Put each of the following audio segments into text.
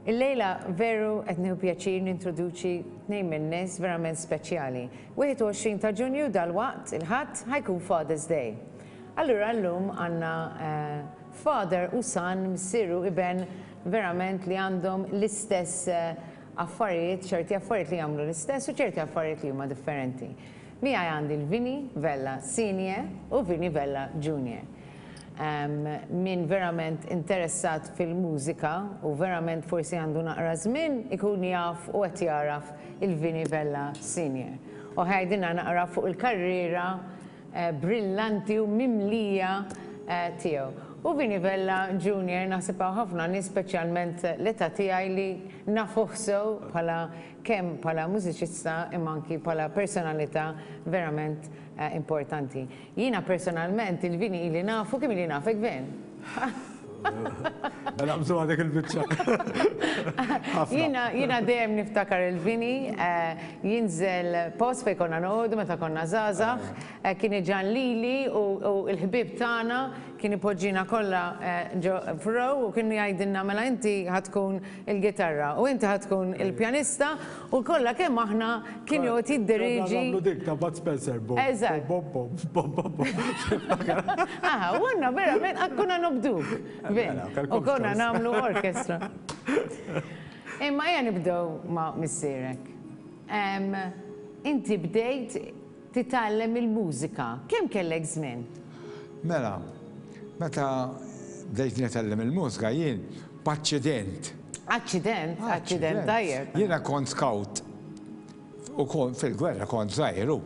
Illejla veru qed nieħu pjaċir nintroduċi tnejn min-nies verament speċjali. 21 ta' Ġunju dalwaqt, il-Ħadd, ħa jkun Father's Day. Allura llum għandna father u son, missier u iben verament li għandhom l-istess affarijiet, ċerti affarijiet li jagħmlu l-istess u ċerti affarijiet li huma differenti. Miegħi għandi l-Vinnie Vella Senior u Vinnie Vella Junior. Min verament interessat fil-mużika u verament forsi għandu naqra żmien ikun jaf u qed jagħraf il-Vinnie Vella Senior. U ħa jgħidilna naqra fuq il-karriera brillanti u mimlija tiegħu. U Vinnie Vella Junior naħseb hawn ħafna nies speċjalment l-età tiegħi li nafuh sew bħala kemm bħala mużiċista imma anki bħala personalità verament importanti. Jiena personalment il-Vini ili nafu, kemm ili nafek Vin? Mela naqbżu dik il-biċċa. Jiena jiena dejjem niftakar il-Vini eh, jinżel post fejn konna noqogħdu meta konna żgħażagħ, eh, kien iġan lili u l-ħbieb tagħna kien ipoġġina kollha eh, ġo f'row u kien jgħidilna mela inti ħa tkun il-gitarra u inti ħa tkun il-pjanista U kollha kemm aħna kien joqgħod jidderieġi. Konna nagħmlu dik ta' Bud Spencer, bom. Eżatt. Bom, bom, bom, bom, bom. Aha, u għandna verament konna nobduk. Mela, U konna nagħmlu orkestra. Imma ejja nibdew ma' missierek. Inti bdejt titgħallem il-mużika. Kemm kellek żmien? Mela, meta bdejt nitgħallem il-mużika jien b'aċċident. Aċċident? Aċċident tajjeb. Jiena kont scout u kont fil-gwerra kont żgħir u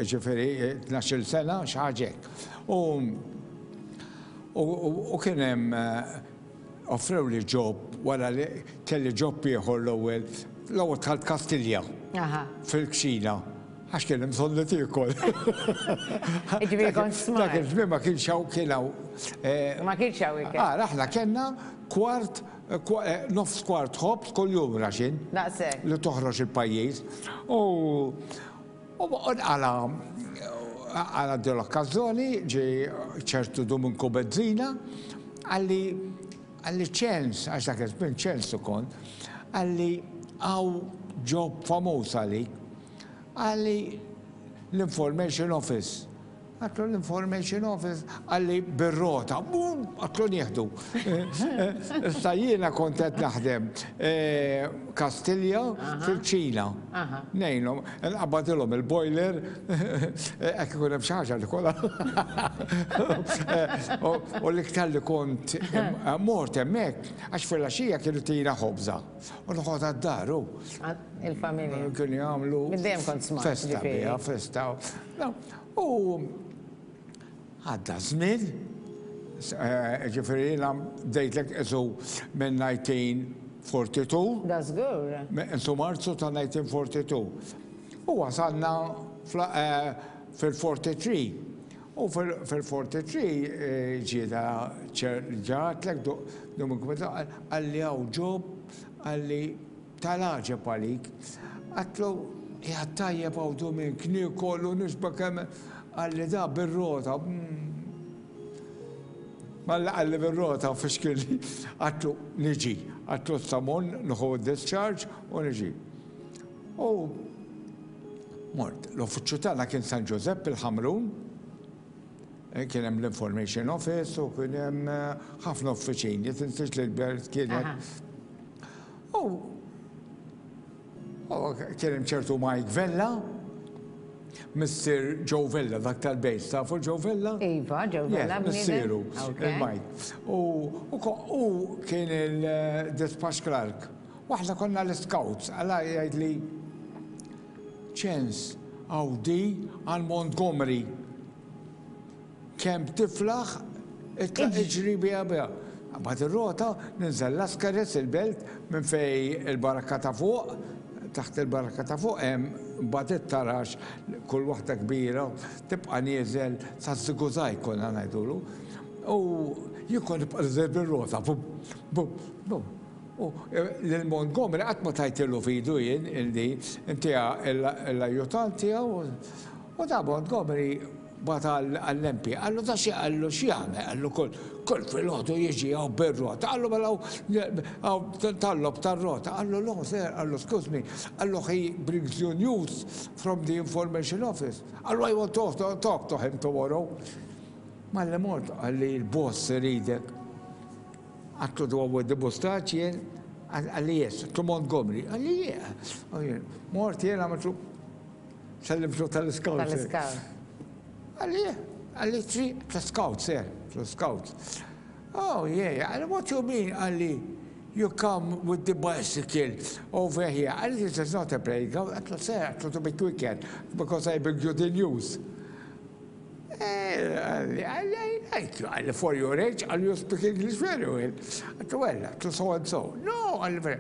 ġifieri 12-il sena xi ħaġa hekk. U u kien hemm offrewli job wara li kelli job ieħor l-ewwel, l-ewwel dħalt Kastilja fil-kċina għax kien hemm bżonn li tiekol. Jiġifieri kont smart. Dak iż-żmien ma kienx hawn kien hawn. Ma kienx hawn ikel. Ara aħna kellna kwart nofs kwart ħobż kuljum raxin. Daqshekk. Li toħroġ il-pajjiż. U U nqala' għala din l-okkażjoni ġie ċertu Duminku Bezzina, qalli, qalli ċens, għax dak iż-żmien ċensu kont, qalli hawn job famuż għalik. Qalli l-Information Office. Għedtlu l-Information Office, qalli bir-rota, bum, għedtlu nieħdu. Issa jiena kont qed naħdem Kastilja fil-kċina. Ngħinhom, nqabbadilhom il-boiler, hekk ikun hemm xi ħaġa nikolha. U l-iktar li kont mort hemmhekk, għax filgħaxija kienu jtina ħobża u noħodha d-dar hu. Il-familja. Kienu jagħmlu. Minn dejjem kont smart. Festa biha, festa. U għadda żmien, ġifieri jiena bdejtlek qisu minn 1942. Da żgur. Qisu Marzu ta' 1942. U wasalna fil-43. U fil-43 ġie da ġatlek Dominiku qalli hawn job qalli Tal-għaġeb għalik. Għedtlu, Qiegħed tajjeb hawn Dumink, niekol u nixba' kemm Qalli da bir-rota. Malli qalli bir-rota fixkilni. Għedtlu, Niġi. Għedtlu issa mmur nieħu d-discharge u niġi. U mort. L-uffiċċju tagħna kien San Ġużepp il-Ħamrun. Kien hemm l-Information Office u kien hemm ħafna uffiċini. Tinsiex li l-belt kienet U kien hemm ċertu Mike Vella, missier Joe Vella, dak tal-bejt, tafu Joe Vella? Iva, Joe Vella. Missieru, il-Mike. U kien il-dispatch clerk. U aħna konna l-scouts, għala jgħidli ċens Audi għal Montgomery. Kemm tiflaħ, itlaq iġri biha biha. Mbagħad ir-rota, ninżel Lascaris, il-belt, minn fejn il-barakka ta' fuq, taħt il-barakka ta' fuq hemm mbagħad it-taraġ, kull waħda kbira, tibqa' nieżel saż-żigużajg konna ngħidulu. U jien kont nibqa' nieżel bir-rota, bum, bum, bum. U lil Montgomery qatt ma tajtilu f'idu jien il-di, intiha l-ajjutant tiegħu u ta' Montgomery. Bagħat għall-MP, qallu da xi qallu x'jagħmel, qallu kull kull filgħodu jiġi hawn bir-rota, qallu mela hawn tal-logħob tar-rota, qallu no sir, qallu excuse me, qallu he brings you news from the information office, qallu I want to talk to him tomorrow. Malli mort qalli l-boss iridek. Għadtlu do I want the mustache jien? Qalli yes, għadtlu Montgomery, qalli yeah. Mort jien għamiltlu Sellimtlu tal-scout. Tal-scout. Għalli, għalli tri, tal-scout, sir, tal-scout. Oh, yeah, għalli, what you mean, għalli, you come with the bicycle over here. Għalli, this is not a playground. Għatlu, sir, għatlu to be quicker, because I bring you the news. Eh, għalli, għalli, għalli, għalli, for your age, għalli, you speak English very well. Għatlu, well, għatlu, so and so. No, għalli,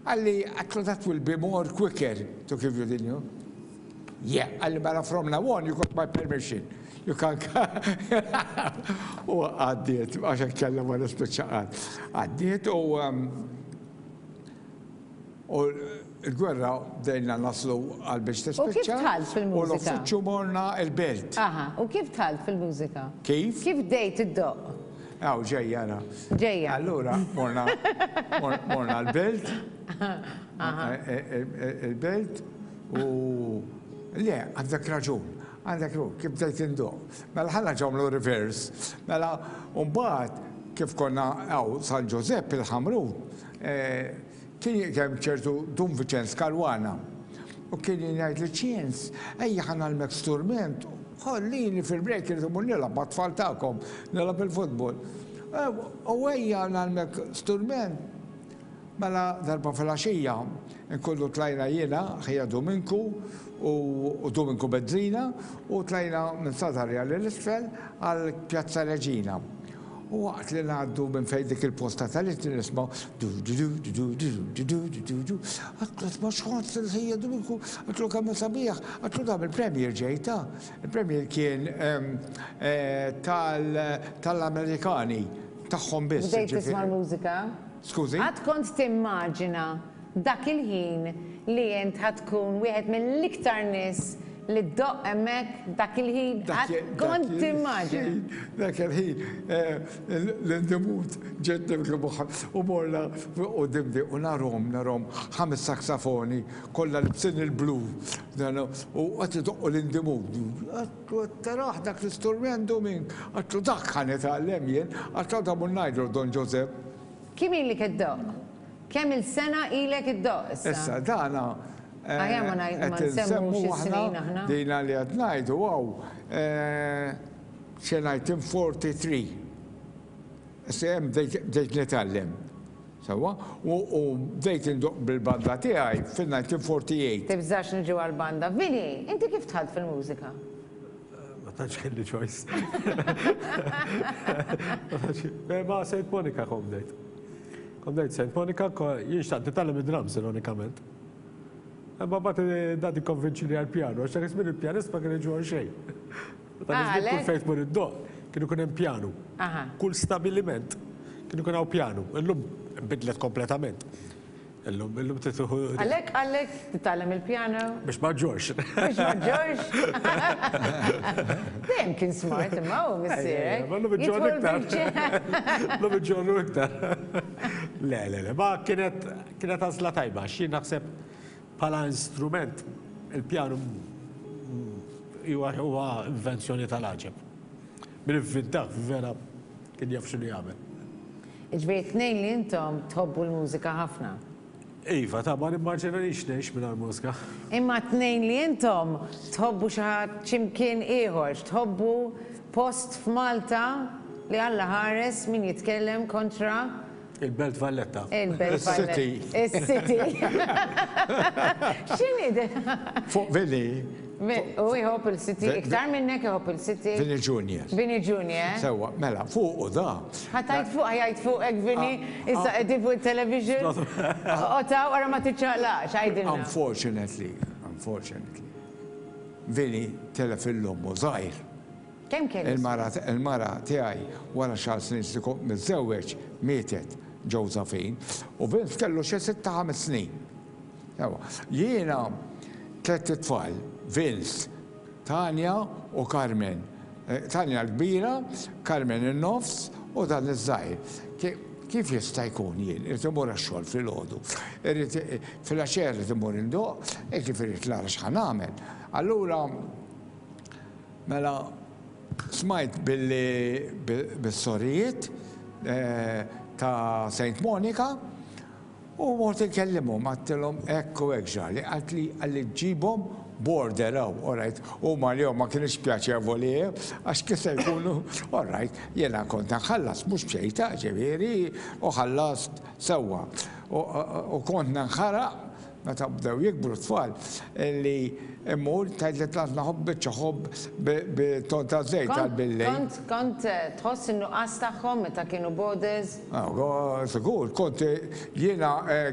Qalli, għedtlu that will be more quicker to give you the new. Yeah, qalli mela from now on you got my permission. You can U għaddiet, għax kellha ma nispiċċa qatt. Għaddiet u um, u l-gwerra bdejna naslu għal biex tispiċċa. U kif dħalt fil-mużika? U l-uffiċċju morna l-belt. Aha, u kif dħalt fil-mużika? Kif? Kif bdejt iddoqq? Aw, ġejja ara. Ġejja. Allura, morna, morna l-belt, e, e, e, il-belt u le, għandek raġun, għandek raġun, kif bdejt indoq. Mela ħalla ġomlu reverse, mela mbagħad kif konna għaw San Ġużepp il-Ħamrun, Kien hemm ċertu Dun Viċenz Caruana u kien jgħidli Ċins, ejja ħa ngħallmek sturment, ħallini fil-break irrid immur nilgħab mat-tfal tagħkom, nilgħab il-futbol. U ejja ngħallmek sturment. Mela darba filgħaxija nkunu tlajna jiena, ħija Duminku u Duminku Bezzina u tlajna minn Sadarja 'l isfel għal Pjazza Reġina. U waqt li ngħaddu minn fejn dik il-posta tal-ittri nismgħu du du du du du du du du du du. Għedtlu isma' x'ħoss il-ħija Duminku, għedtlu kemm hu sabiħ, għedtlu dan mill-Premier ġej ta. Il-Premier kien tal-Amerikani, tagħhom biss. Bdejt tisma' l-mużika? Skużi? Qatt kont timmaġina dak il-ħin li int ħa tkun wieħed mill-iktar nies li ddoqq hemmhekk dak il-ħin? Qatt kont timmaġina? Dak il-ħin l-indimut ġiet nibki u morna quddiem di u narhom narhom ħames saksafoni kollha libsin il-blu u qed idoqqu l-indimut. Għedtlu qed tarah dak l-isturment Dumink? Għedtlu dak ħa nitgħallem jien. Għedtlu għada mmur ngħidlu Don Ġużepp. Kemm ilek iddoqq? Kemm-il sena ilek iddoqq issa? Issa dana Aħjar ma ngħid ma qed nsemmux insemmu is-snin aħna aħna. dina li qed ngħidu hawn xi 1943. Issa hemm bdejt bdejt nitgħallem. Sewwa? U u bdejt indoqq bil-banda tiegħi fil-1948. Tibżax niġu għall-banda. Vinny, inti kif dħalt fil-mużika? Ma tantx kelli choice. Ma Saint Monica kont bdejt. Kont bdejt Saint Monica, jien xtaqt nitgħallem id-drums ironikament. Imma mbagħad dad ikkonvinċini għall-pjanu, għax dak iż-żmien il-pjanist ma kien jiġu għal xejn. Dak iż-żmien kull fejn tmur iddoqq kien ikun hemm pjanu. Kull stabiliment kien ikun hawn pjanu. Illum nbidlet kompletament. Illum, illum trid tieħu. Għalhekk qallek titgħallem il-pjano? Biex ma ġġorrx. Biex ma ġġorrx? Dejjem kien smart imma hu missierek. Ma llum iġġorr iktar. Illum iġġorru iktar. Le, le, le, ma kienet kienet għażla tajba għax jien naħseb bħala instrument il-pjanu huwa invenzjoni tal-għaġeb. Min ivvintah vera kien jaf x'inhu jagħmel. Jiġifieri t-tnejn li intom tħobbu l-mużika ħafna. Iva, ta' ma nimmaġinanix ngħix mingħajr mużika. Imma t-tnejn li intom tħobbu xi ħadd xi mkien ieħor, tħobbu post f'Malta li Alla ħares min jitkellem kontra Il-Belt Valletta. Il-Belt Valletta. Is-City. Is-City. X'inhi di? Fuq Vinny. U jħobb il-City, iktar minnek iħobb il-City. Vinny Junior. Vinny Junior. Sewwa, mela, fuqu da. Ħa tgħid fuq, ħa jgħid fuqek Vinny, issa qegħdin fuq it-television. Oqgħod hawn ara ma tiċċaqlaqx, għidilna. Unfortunately, unfortunately, Vinny telef il-ommu żgħir. Kemm kellu? Il-mara tiegħi wara xahar snin li kont miżżewweġ mietet, Josephine, u Vince kellu xi sitta ħames snin. Ewa, jiena tlett itfal, Vince, Tanja u Carmen. Tanja l-kbira, Carmen in-nofs u dan iż-żgħir. Kif jista' jkun jien irrid immur għax-xogħol filgħodu, irrid filgħaxija rrid immur indoqq, jiġifieri rrid nara x'ħa nagħmel. Allura mela smajt billi bis-sorijiet ta' Saint Monica U mort inkellimhom, għedtilhom hekk u hekk ġrali. Qaltli, qalli ġġibhom border hawn, all right. Huma għalihom ma kinitx pjaċevoli, għax kif se jkunu, all right, jiena kont nħallas mhux b'xejn ta' ġifieri, u ħallast sewwa. U kont ninħaraq meta bdew jikbru t-tfal li mmur tgħidli tlaqna ħobb biċċa ħobb bit-ton ta' żejt għal bil-lejl. Kont, kont tħoss in-nuqqas tagħhom meta kienu borders? Sigur, kont jiena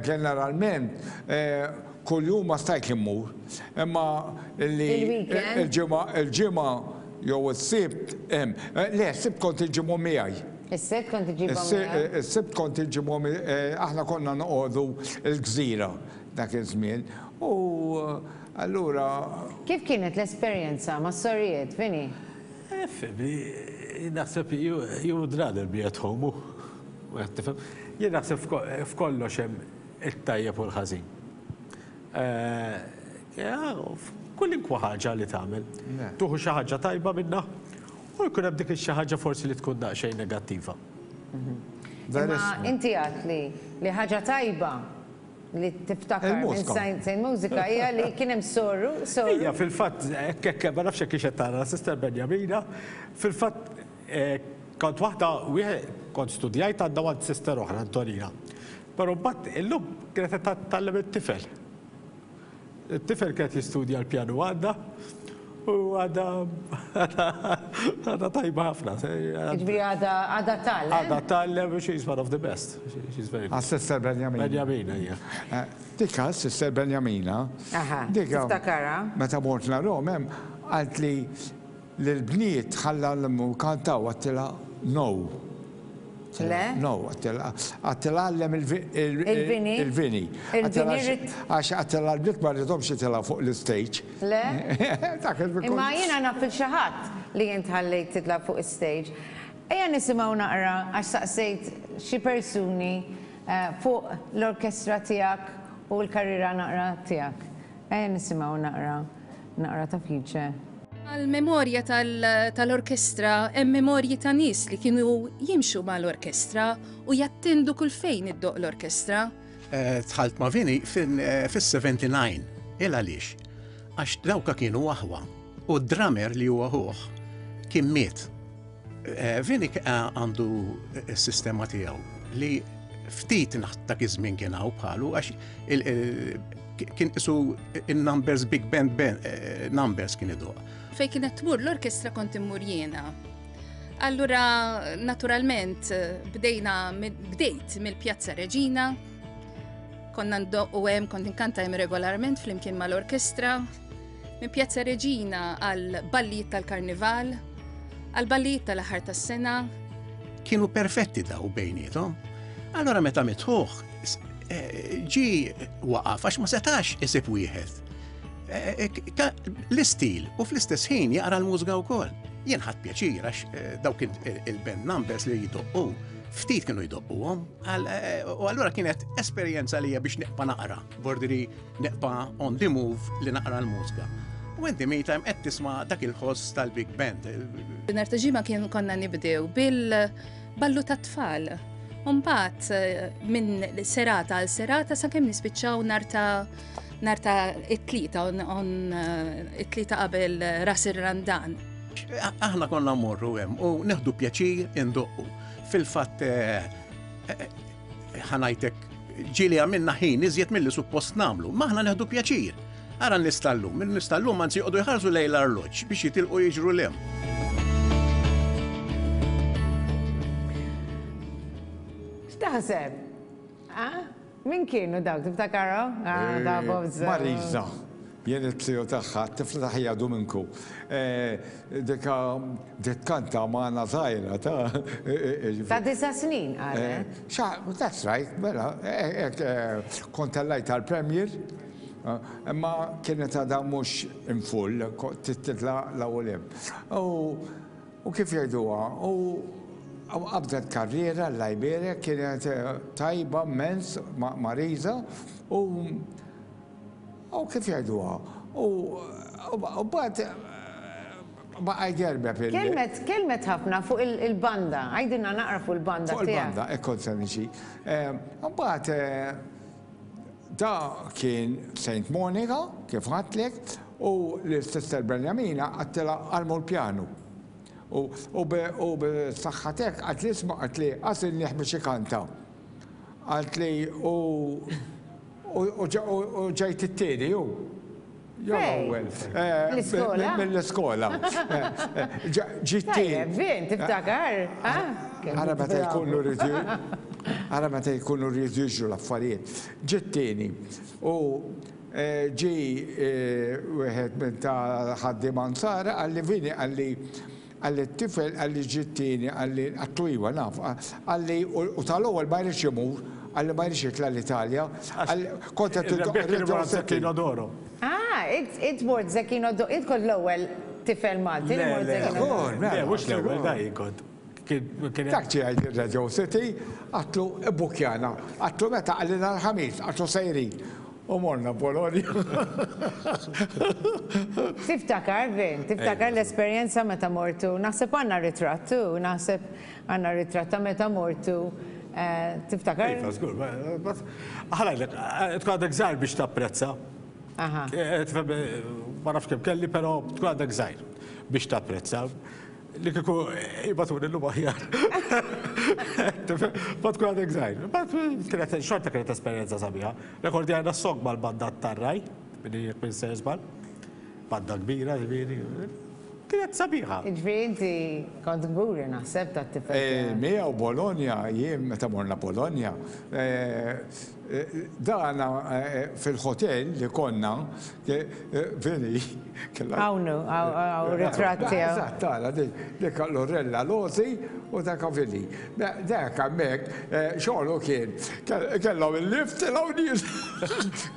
ġeneralment kuljum ma stajtx immur, imma li il-ġimgħa il-ġimgħa jew is-Sibt hemm. Le, s-Sibt kont inġibhom miegħi. Is-Sibt kont iġġibhom miegħek? Is-Sibt kont inġibhom, aħna konna noqogħdu l-Gżira dak iż-żmien u allura. Kif kienet l-esperjenza mas-sorijiet, Vinnie? Fhimni, jien naħseb you would rather be at home, hu qed tifhem. Jien naħseb f'kollox hemm it-tajjeb u l-ħażin. Kwalunkwe ħaġa li tagħmel, tieħu xi ħaġa tajba minnha u jkun hemm dik ix-xi ħaġa forsi li tkun daqsxejn negattiva. Imma inti għedt li li ħaġa tajba li tiftakar minn Saint Mużika hija li kien hemm soru, soru. Hija fil-fatt, hekk hekk, ma nafx hekk hix qed tara, Sister Benjamina, fil-fatt kont waħda, wieħed, kont studjajt għandha għand sister oħra, Antonina. Però mbagħad illum kienet qed tgħallem it-tifel. It-tifel kien qed jistudja l-pjanu għandha u għadha għadha tajba ħafna. Jiġifieri għadha għadha tgħallem. Għadha tgħallem u she's one of the best. She's very good. Għas-Sister Benjamina. Benjamina, hija. Dik Sister Benjamina. Aha, tiftakarha. Meta mort narahom hemm qaltli lill-bniet ħalla kantaw għedtilha no. Le? No, għedtilha għallem il-vini. Il-vini. Għax għedtilha l-bniet ma rridhomx jitilgħu fuq l-istage. Le? Imma jiena naf lil xi ħadd li int ħallejt titla' fuq is-stage. Ejja nisimgħu naqra għax saqsejt xi persuni fuq l-orkestra tiegħek u l-karriera naqra tiegħek. Ejja nisimgħu naqra naqra ta' Fice. Għall-memorja tal-orkestra hemm memorji ta' nies li kienu jimxu mal-orkestra u jattendu kull fejn iddoqq l-orkestra. Dħalt ma' Vinny fis-79. Il għaliex? Għax dawka kienu aħwa u d-drummer li huwa ħuh kien miet. Vinny għandu s-sistema tiegħu li ftit dak iż-żmien kien hawn bħalu għax kien isu in-numbers big band numbers kien idoq. Fejn kienet tmur l-orkestra kont immur jiena. Allura naturalment bdejna bdejt mill-Pjazza Reġina, konna ndoqqu hemm, kont inkanta hemm regolarment flimkien mal-orkestra. Minn Pjazza Reġina għal ballijiet tal-Karnival, għal ballijiet tal-aħħar tas-sena. Kienu perfetti daw bejniethom. Allora meta mitħuh, ġi waqaf għax ma setax isib wieħed. L-istil u fl-istess ħin jaqra l-mużika wkoll. Jien ħadt pjaċir għax dawk il-band numbers li jdoqqu, ftit kienu jdoqquhom, u allura kienet esperjenza li biex neqpa naqra, bordiri Neqpa' on the move li naqra l-mużika. U in the meantime qed tisma' dak il-ħoss tal-big band. Nhar ta' Ġimgħa kien konna nibdew bil-ballu tat-tfal. U mbagħad minn serata għal serata sakemm nispiċċaw nhar ta' nhar ta' it-tlieta on it-tlieta qabel ras ir-Randan. Aħna konna mmorru hemm u neħdu pjaċir indoqqu. Fil-fatt ħa ngħidlek ġieli għamilna ħin iżjed milli suppost nagħmlu, ma aħna neħdu pjaċir. Ara n-nies tal-lum, in-nies tal-lum anzi joqogħdu jħarsu lejn l-arloġġ biex jitilqu jiġru 'l hemm. X'taħseb? Ah? Min kienu dawk, tiftakarhom? Ah, ta' Bob Marisa. Jien it-trio tagħha, t-tifla ta' ħija Duminku. Dika bdiet tkanta magħna żgħira ta'. Ta' disa' snin qalet. That's right, mela, kont tellajt għall-premier, imma kienet għadha mhux in full, titla' l-ewwel hemm. U. U kif jgħiduha, u qabdet karriera Alla jbierek, kienet tajba mmens Marisa u u kif jgħiduha, u mbagħad baqa' jgerbeb il. Kelmet, kelmet ħafna fuq il-banda, għidilna naqra fuq il-banda tiegħek. Fuq il-banda, hekk kont se niġi. Mbagħad da kien Saint Monica, kif għedtlek, U lil Sister Benjamina għedtilha għallmu l-pjanu. U u bis-saħħa t'hekk qaltli isma' qaltli għażilnih biex ikanta. Qaltli u u ġejt it-tieni hu. Jew l-ewwel. Mill-iskola? Mill-iskola. Ġie t-tieni. Tajjeb, Vin, tiftakar? Ara meta jkunu rridu ara meta jkunu rridu jiġru l-affarijiet. Ġie t-tieni. U Ġie wieħed minn ta' ħaddiema Nsara qalli Vini qalli qalli t-tifel qalli ġie t-tieni qalli għadtlu iva naf qalli u tal-ewwel ma jridx imur qalli ma jridx jitla' l-Italja qalli kont qed Ir-rebbieħ kien imur għand Zecchino d'Oro. Ah, int mort Zecchino d'Oro, int kont l-ewwel tifel Malti li mort Zecchino d'Oro. Le, le, mhux l-ewwel, dai jien kont. Dak ġie jgħid ir-Radio City, għadtlu ibbukkjana. Għadtlu meta? Qalli nhar il-Ħamis, għadtlu sejrin. U morna Bologna. Tiftakar, Vin, tiftakar l-esperjenza meta mortu, naħseb għandna ritratt hu, naħseb għandna ritratt ta' meta mortu, tiftakar? Iva, żgur, ħa ngħidlek, tkun għadek żgħir biex tapprezza. Ma nafx kemm kelli, però tkun għadek żgħir biex tapprezza. Li kieku jibatuni l-lum aħjar. Ma tkun għadek żgħir. Kienet xorta kienet esperjenza sabiħa. Rekordjajna s-song mal-banda tarraj, minni jekk minn sejjer żball. Banda kbira, ġifieri. Kienet sabiħa. Ġifieri inti kont kburi naħseb tat-tifel. Eh, miegħu Bologna, jien meta morna Bologna, eh, Dana fil-hotel li konna, Vini, kellha. Hawn hu, hawn ritratt tiegħu. Eżatt, tara dik, dik Lorella Losi u dak Vini. Dak hemmhekk xogħlu kien, kellhom il-lift tilgħu nies.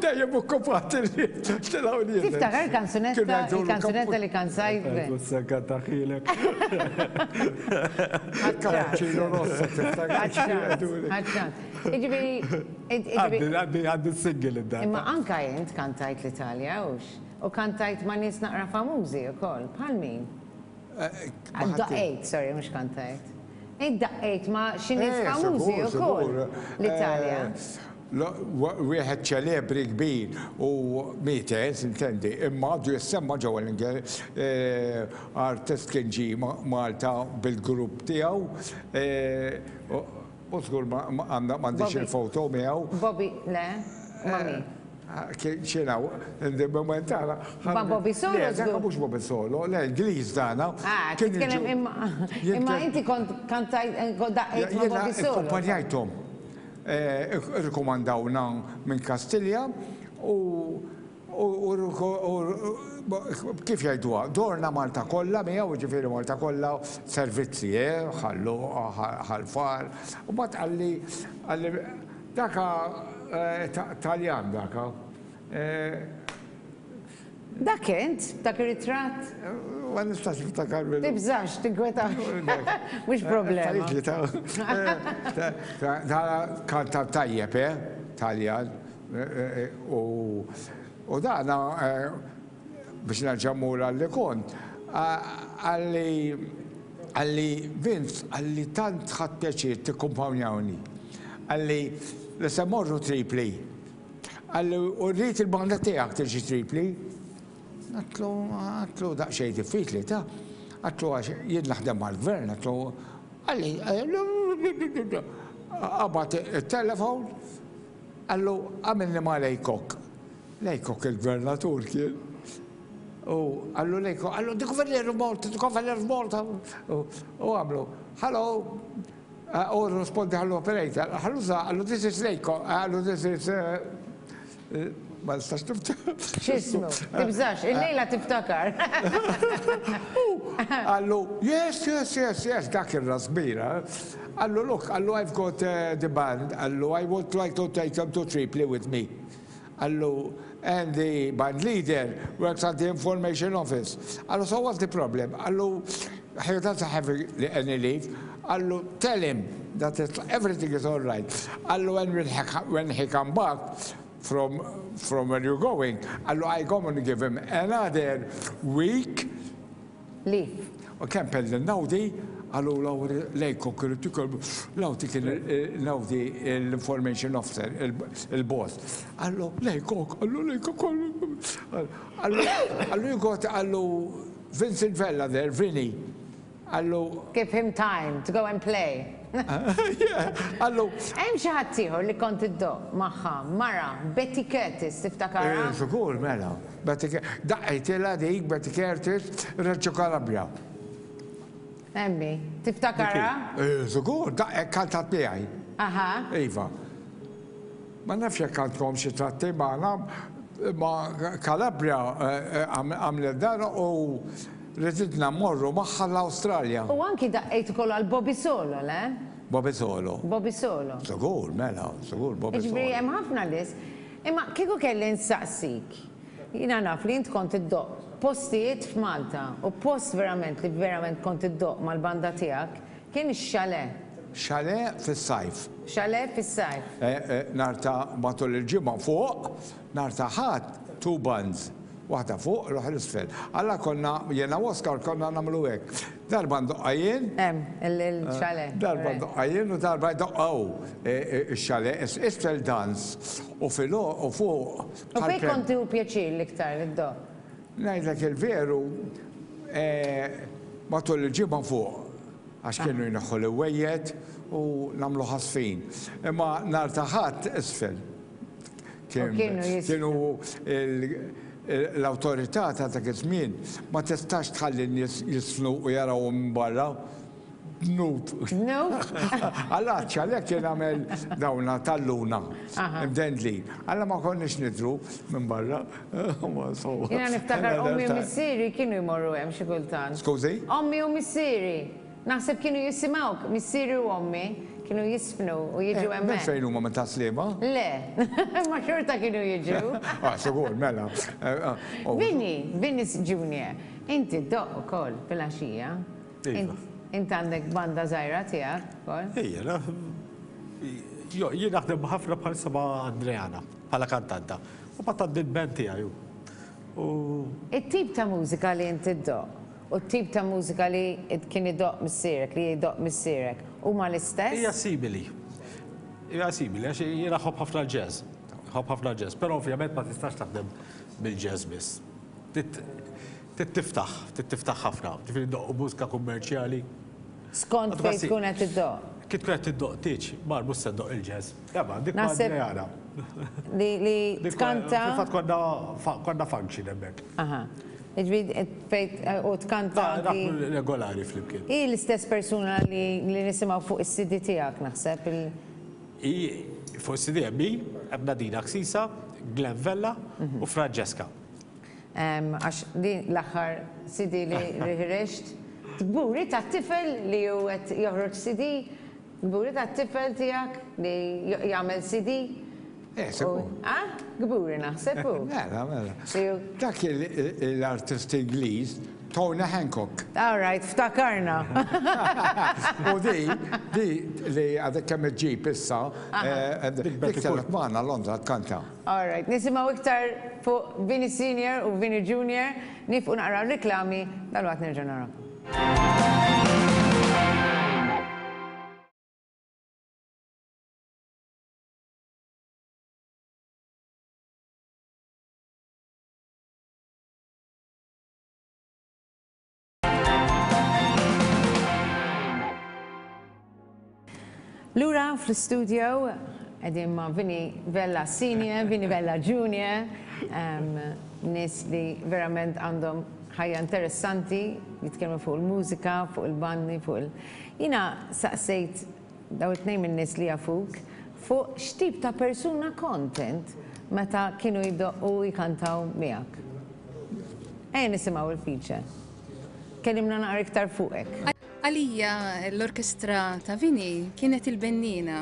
Dejjem okkupat il-lift tilgħu nies. Tiftakar il-kanzunetta, il-kanzunetta li kanzajt? Mhux se nkantahielek. Cappuccino rosso tiftakar. Ħadd Jiġifieri. Għaddi għaddi single id-darba. Imma anka int kantajt l-Italja, hux? U kantajt ma' nies naqra famużi wkoll, bħal min? Daqqejt, sorry, mhux kantajt. Int daqqejt ma' xi nies famużi wkoll l-Italja. Wieħed ċelebri kbir u miet, sintendi, imma għadu jissemma ġewwa l-Ingilterra, artist kien ġie Malta bil-grupp tiegħu. U żgur m'għandix il-foto miegħu. Bobby, le, ma' min? Xina, moment tara. Ma' Bobby Solo. Le, dak mhux Bobby Solo, le, Ingliż dana. Ah, titkellem imma imma inti kont kantajt daqqejt ma' Bobby Solo. Akkumpanjajthom. Irrikomandawna minn Kastilja u U kif jgħiduha, dorna Malta kollha miegħu, jiġifieri Malta kollha servizzi, eh, Ħal Luqa, Ħal Far. U mbagħad qalli, qalli, daka Taljan daka. Dak int, dak ir-ritratt? Ma nistax niftakar minnu. Tibżax, tinkwetax. Mhux problema. Kanta tajjeb, eh, Taljan. U dana, biex nerġa' mmur għal li kont, qalli, qalli, Vince, qalli tant ħadt pjaċir tikkumpanjawni. Qalli li se mmorru Tripli. Qalli u rrid il-banda tiegħek tiġi Tripli. Għedtlu, għedtlu daqsxejn diffiċli ta'. Għedtlu għax jien naħdem mal-gvern, għedtlu, qalli, qabad it-telefon, Qallu, Għamilni ma' Laycock. Laycock il-gvernatur kien. U qallu Laycock, qallu, The Governor of Malta, the Governor of Malta. U għamlu, Hello, u rrispondi għall-operator, qallu, qallu, this is Laycock, qallu, this is Ma nistax niftakar. X'ismu? Tibżax, illejla tiftakar. Qallu, yes, yes, yes, yes, dak ir-ras kbira. Qallu, look, qallu, I've got the band, qallu, I would like to take them to Tripoli with me. Qallu, and the band leader works at the information office. Qallu, so what's the problem? Qallu, He doesn't have any leave. Qallu, tell him that it's, everything is all right. Qallu, when, will he, when he come back from, from where you're going, qallu, I come and give him another week. Leave. U kempel lil Nawdi, qallu lejko kienu tikol, Nawdi kien Nawdi l-information officer, il-boss. Qallu, lejko, qallu, lejko, qallu, qallu, you got, qallu, Vincent Vella there, Vinny. Qallu. Give him time to go and play. Yeah, qallu. Hemm xi ħadd ieħor li kont iddoqq magħha, mara, Betty Curtis, tiftakarha? Eh, żgur, mela. Betty Daqqejtilha dik Betty Curtis, Reggio Calabria. Emmi, tiftakarha? Eh, żgur, daqqet kantat miegħi. Aha. Iva. Ma nafx jekk għandkom xi tratti magħna, ma Calabria għamlet dan u riditna mmorru magħha l-Awstralja. U anki daqqejt ukoll għal Bobby Solo, le? Bobby Solo. Bobby Solo. Żgur, mela, żgur Bobby Solo. Jiġifieri hemm ħafna nies. Imma kieku kelli nsaqsik, jiena naf li int kont iddoqq postijiet f'Malta u post verament li verament kont iddoqq mal-banda tiegħek kien ix-chalet. Chalet fis-sajf. Chalet fis-sajf. Nhar ta' matul il-ġimgħa fuq, nhar ta' Ħadd two bands. Waħda fuq, l-oħra isfel. Alla konna, jiena u Oscar konna nagħmlu hekk. Darba ndoqqha jien. Hemm, il-chalet. Darba ndoqqha jien u darba jdoqqha hu x-chalet. Isfel dance u fil u fuq. U fejn kont tieħu pjaċir l-iktar li ddoqq? Ngħidlek il-veru, matul il-ġimgħa fuq. Għax kienu jneħħu l-imwejjed u nagħmlu ħasfin. Imma nhar ta' Ħadd isfel. Kienu l-awtorità ta' dak iż-żmien ma tistax tħalli n-nies jiżfnu u jarawhom minn barra. Dnub. Dnub? Alla għalhekk kien għamel dawna tal-luna imdendlin. Alla ma konniex nidhru minn barra. Jiena niftakar ommi u missieri kienu jmorru hemm xi kultant. Skużi? Ommi u missieri. Naħseb kienu jisimgħuk, missieri u ommi kienu jiżfnu u jiġu hemmhekk. Minn fejn huma minn Tas-Sliema? Le, imma xorta kienu jiġu. Ah, sigur, mela. Vinny, Vinny Junior, inti ddoqq ukoll filgħaxija. Iva. Int għandek banda żgħira tiegħek ukoll? Ejja, jien naħdem ħafna bħalissa ma' Andreana bħala kantanta. U mbagħad għandi l-band tiegħi u. It-tip ta' mużika li inti ddoqq u t-tip ta' mużika li kien idoqq missierek, li jdoqq missierek, huma l-istess? Hija simili. Hija simili għax jiena nħobb ħafna l-jazz. Nħobb ħafna l-jazz, però ovvjament ma tistax taħdem bil-jazz biss. Trid tiftaħ, trid tiftaħ ħafna. Ġifieri ndoqqu mużika kummerċjali. Skont fejn tkun qed iddoqq. Kif tkun qed iddoqq tieġ, mar mhux se ddoqq il-jazz. Imma dik ma' Adriana. Li li tkanta. Fil-fatt konna konna function hemmhekk. Aha. Jiġifieri fejn u tkanta anki. Naħdmu regolari flimkien. Hi l-istess persuna li li nisimgħu fuq is-CD tiegħek naħseb il. Hi fuq is-CD hemm hi, hemm Nadina Ksisa, Glenn Vella u Francesca. Għax din l-aħħar CD li ħriġt. Kburi tat-tifel li hu qed joħroġ CD? Kburi tat-tifel tiegħek li jagħmel CD? Eh, sikur. Ah, kburi naħseb hu. Mela, mela. Dak l-artist Ingliż Tony Hancock. All right, ftakarna. U di, di li għadek kemm iġġib issa, dik telgħet magħna Londra tkanta. All right, nisimgħu iktar fuq Vinny Senior u Vinny Junior, nifqu naqraw riklami, dalwaqt nerġgħu narakom. Lura fl-istudio qegħdin ma' Vinny Vella Senior, Vinny Vella Junior, nies li verament għandhom ħajja interessanti, jitkellmu fuq il-mużika, fuq il-bandi, fuq il- Jiena saqsejt dawn it-tnejn min-nies li jafuk fuq x'tip ta' persuna kont int meta kienu jdoqqu u jkantaw miegħek. Ejja nisimgħu il-feature. Kellimna naqra iktar fuqek. Għalija l-orkestra ta' Vinny kienet il-benniena.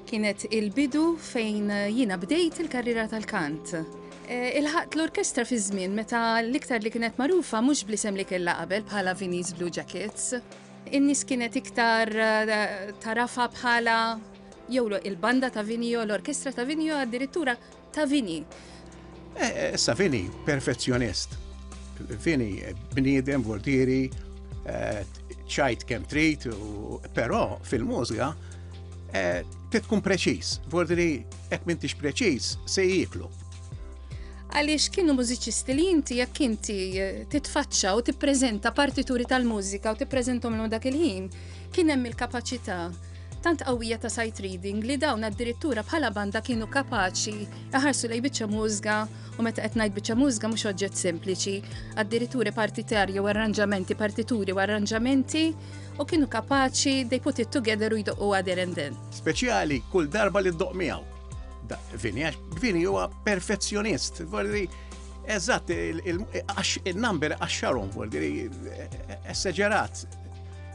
Kienet il-bidu fejn jiena bdejt il-karriera tal-kant. Ilħaqt l-orkestra fi żmien meta l-iktar li kienet magħrufa mhux bl-isem li kellha qabel bħala Vinnie's Blue Jackets. In-nies kienet iktar tagħrafha bħala jew il-banda ta' Vinnie jew l-orkestra ta' Vinnie jew addirittura ta' Vinnie. Issa Vinnie perfezzjonist. Vinnie bniedem voltieri, ċajt kemm trid, però fil-mużika trid tkun preċiż. Voltieri Jekk m'intix preċiż, se jieklu. Għaliex kienu mużiċisti li inti jekk inti eh, titfaċċa u tippreżenta partituri tal-mużika u tippreżentom l dak il-ħin, kien hemm il-kapaċità tant qawwija ta' sight reading li dawn addirittura bħala banda kienu kapaċi jaħarsu lej biċċa mużga u meta qed ngħid biċċa mużga mhux oġġett sempliċi, addirittura partitarji u arranġamenti, partituri u arranġamenti u kienu kapaċi they put it together u jdoqqu there and then. Speċjali kull darba li ddoqq miegħu. Vini, għax Vini huwa perfezzjonist, vordi, eżatt, il-number għaxxarhom, vordi, esaġerat,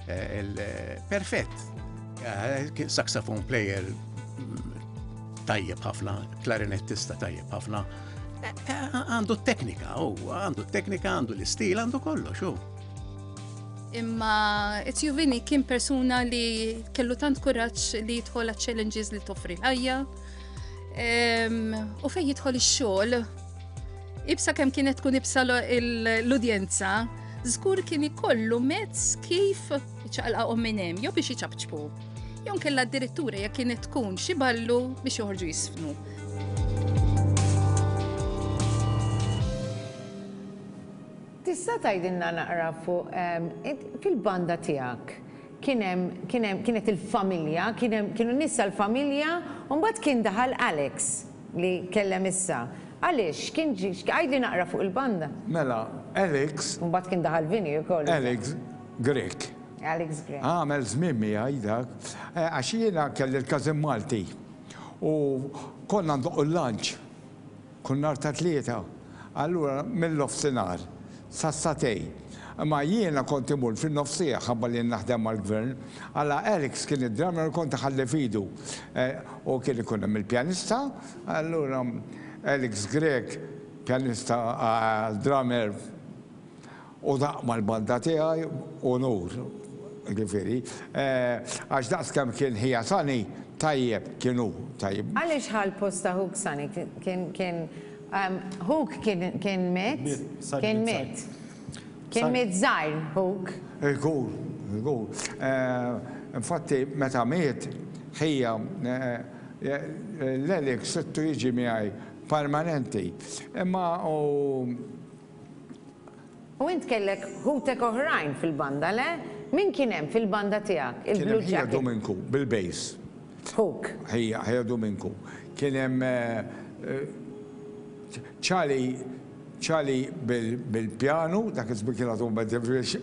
eh, perfett. Eh, saxophone player tajjeb ħafna, klarinettista tajjeb ħafna. Eh, għandu t-teknika, u għandu t-teknika, għandu l-istil, għandu kollox, u. Imma Ezio Vini kien persuna li kellu tant kuraġġ li jidħol challenges li toffri l-ħajja. U fej jidħol ix-xogħol, ibsa kemm kienet tkun ibsa l-udjenza, żgur kien ikollu mezz kif iċaqlaqhom minn hemm, jew biex iċapċpu. Jew kella addirittura jekk kienet tkun xi ballu biex joħorġu jisfnu. Tista' tgħidilna naqra fuq fil-banda tiegħek kien hemm kien hemm kienet il-familja, kien hemm kienu nies tal-familja u mbagħad kien daħal Alex li kellem issa. Għaliex? Kien ġie għidli naqra fuq il-banda. Mela, Alex. U mbagħad kien daħal Vinny ukoll. Alex Grech. Alex Grech. Għamel żmien miegħi dak, għax jiena kelli l-każin Malti u konna ndoqqu l-lunch. Kull nhar ta' Tlieta, allura mill-nofsinhar sas-sagħtejn. Imma jiena kont imur fin-nofsiegħa ħabba li naħdem mal-Gvern. Alla Alex kien id-drummer u kont iħalli f'idu. U kien ikun hemm il-pjanista, allura Alex Grech, pjanista, drummer, U daqq mal-banda tiegħi unur, jiġifieri, għax daqs kemm kien ħija Sunny tajjeb kien hu tajjeb. Għaliex ħa l-post ta' ħuk Sunny? Kien kien ħuk kien kien miet? Kien miet. Kien miet żgħir ħuk. Żgur, żgur. Infatti meta miet ħija l-Alex sittu jiġi miegħi permanenti. Imma u U int kellek ħutek oħrajn fil-banda, le? Min kien hemm fil-banda tiegħek, il-Blue Kien hemm ħija Jacket? Duminku bil-bass. Ħuk. Ħija, ħija Duminku. Kien hemm Charlie, Charlie bil-pjanu, dak iż-żmien kien għadu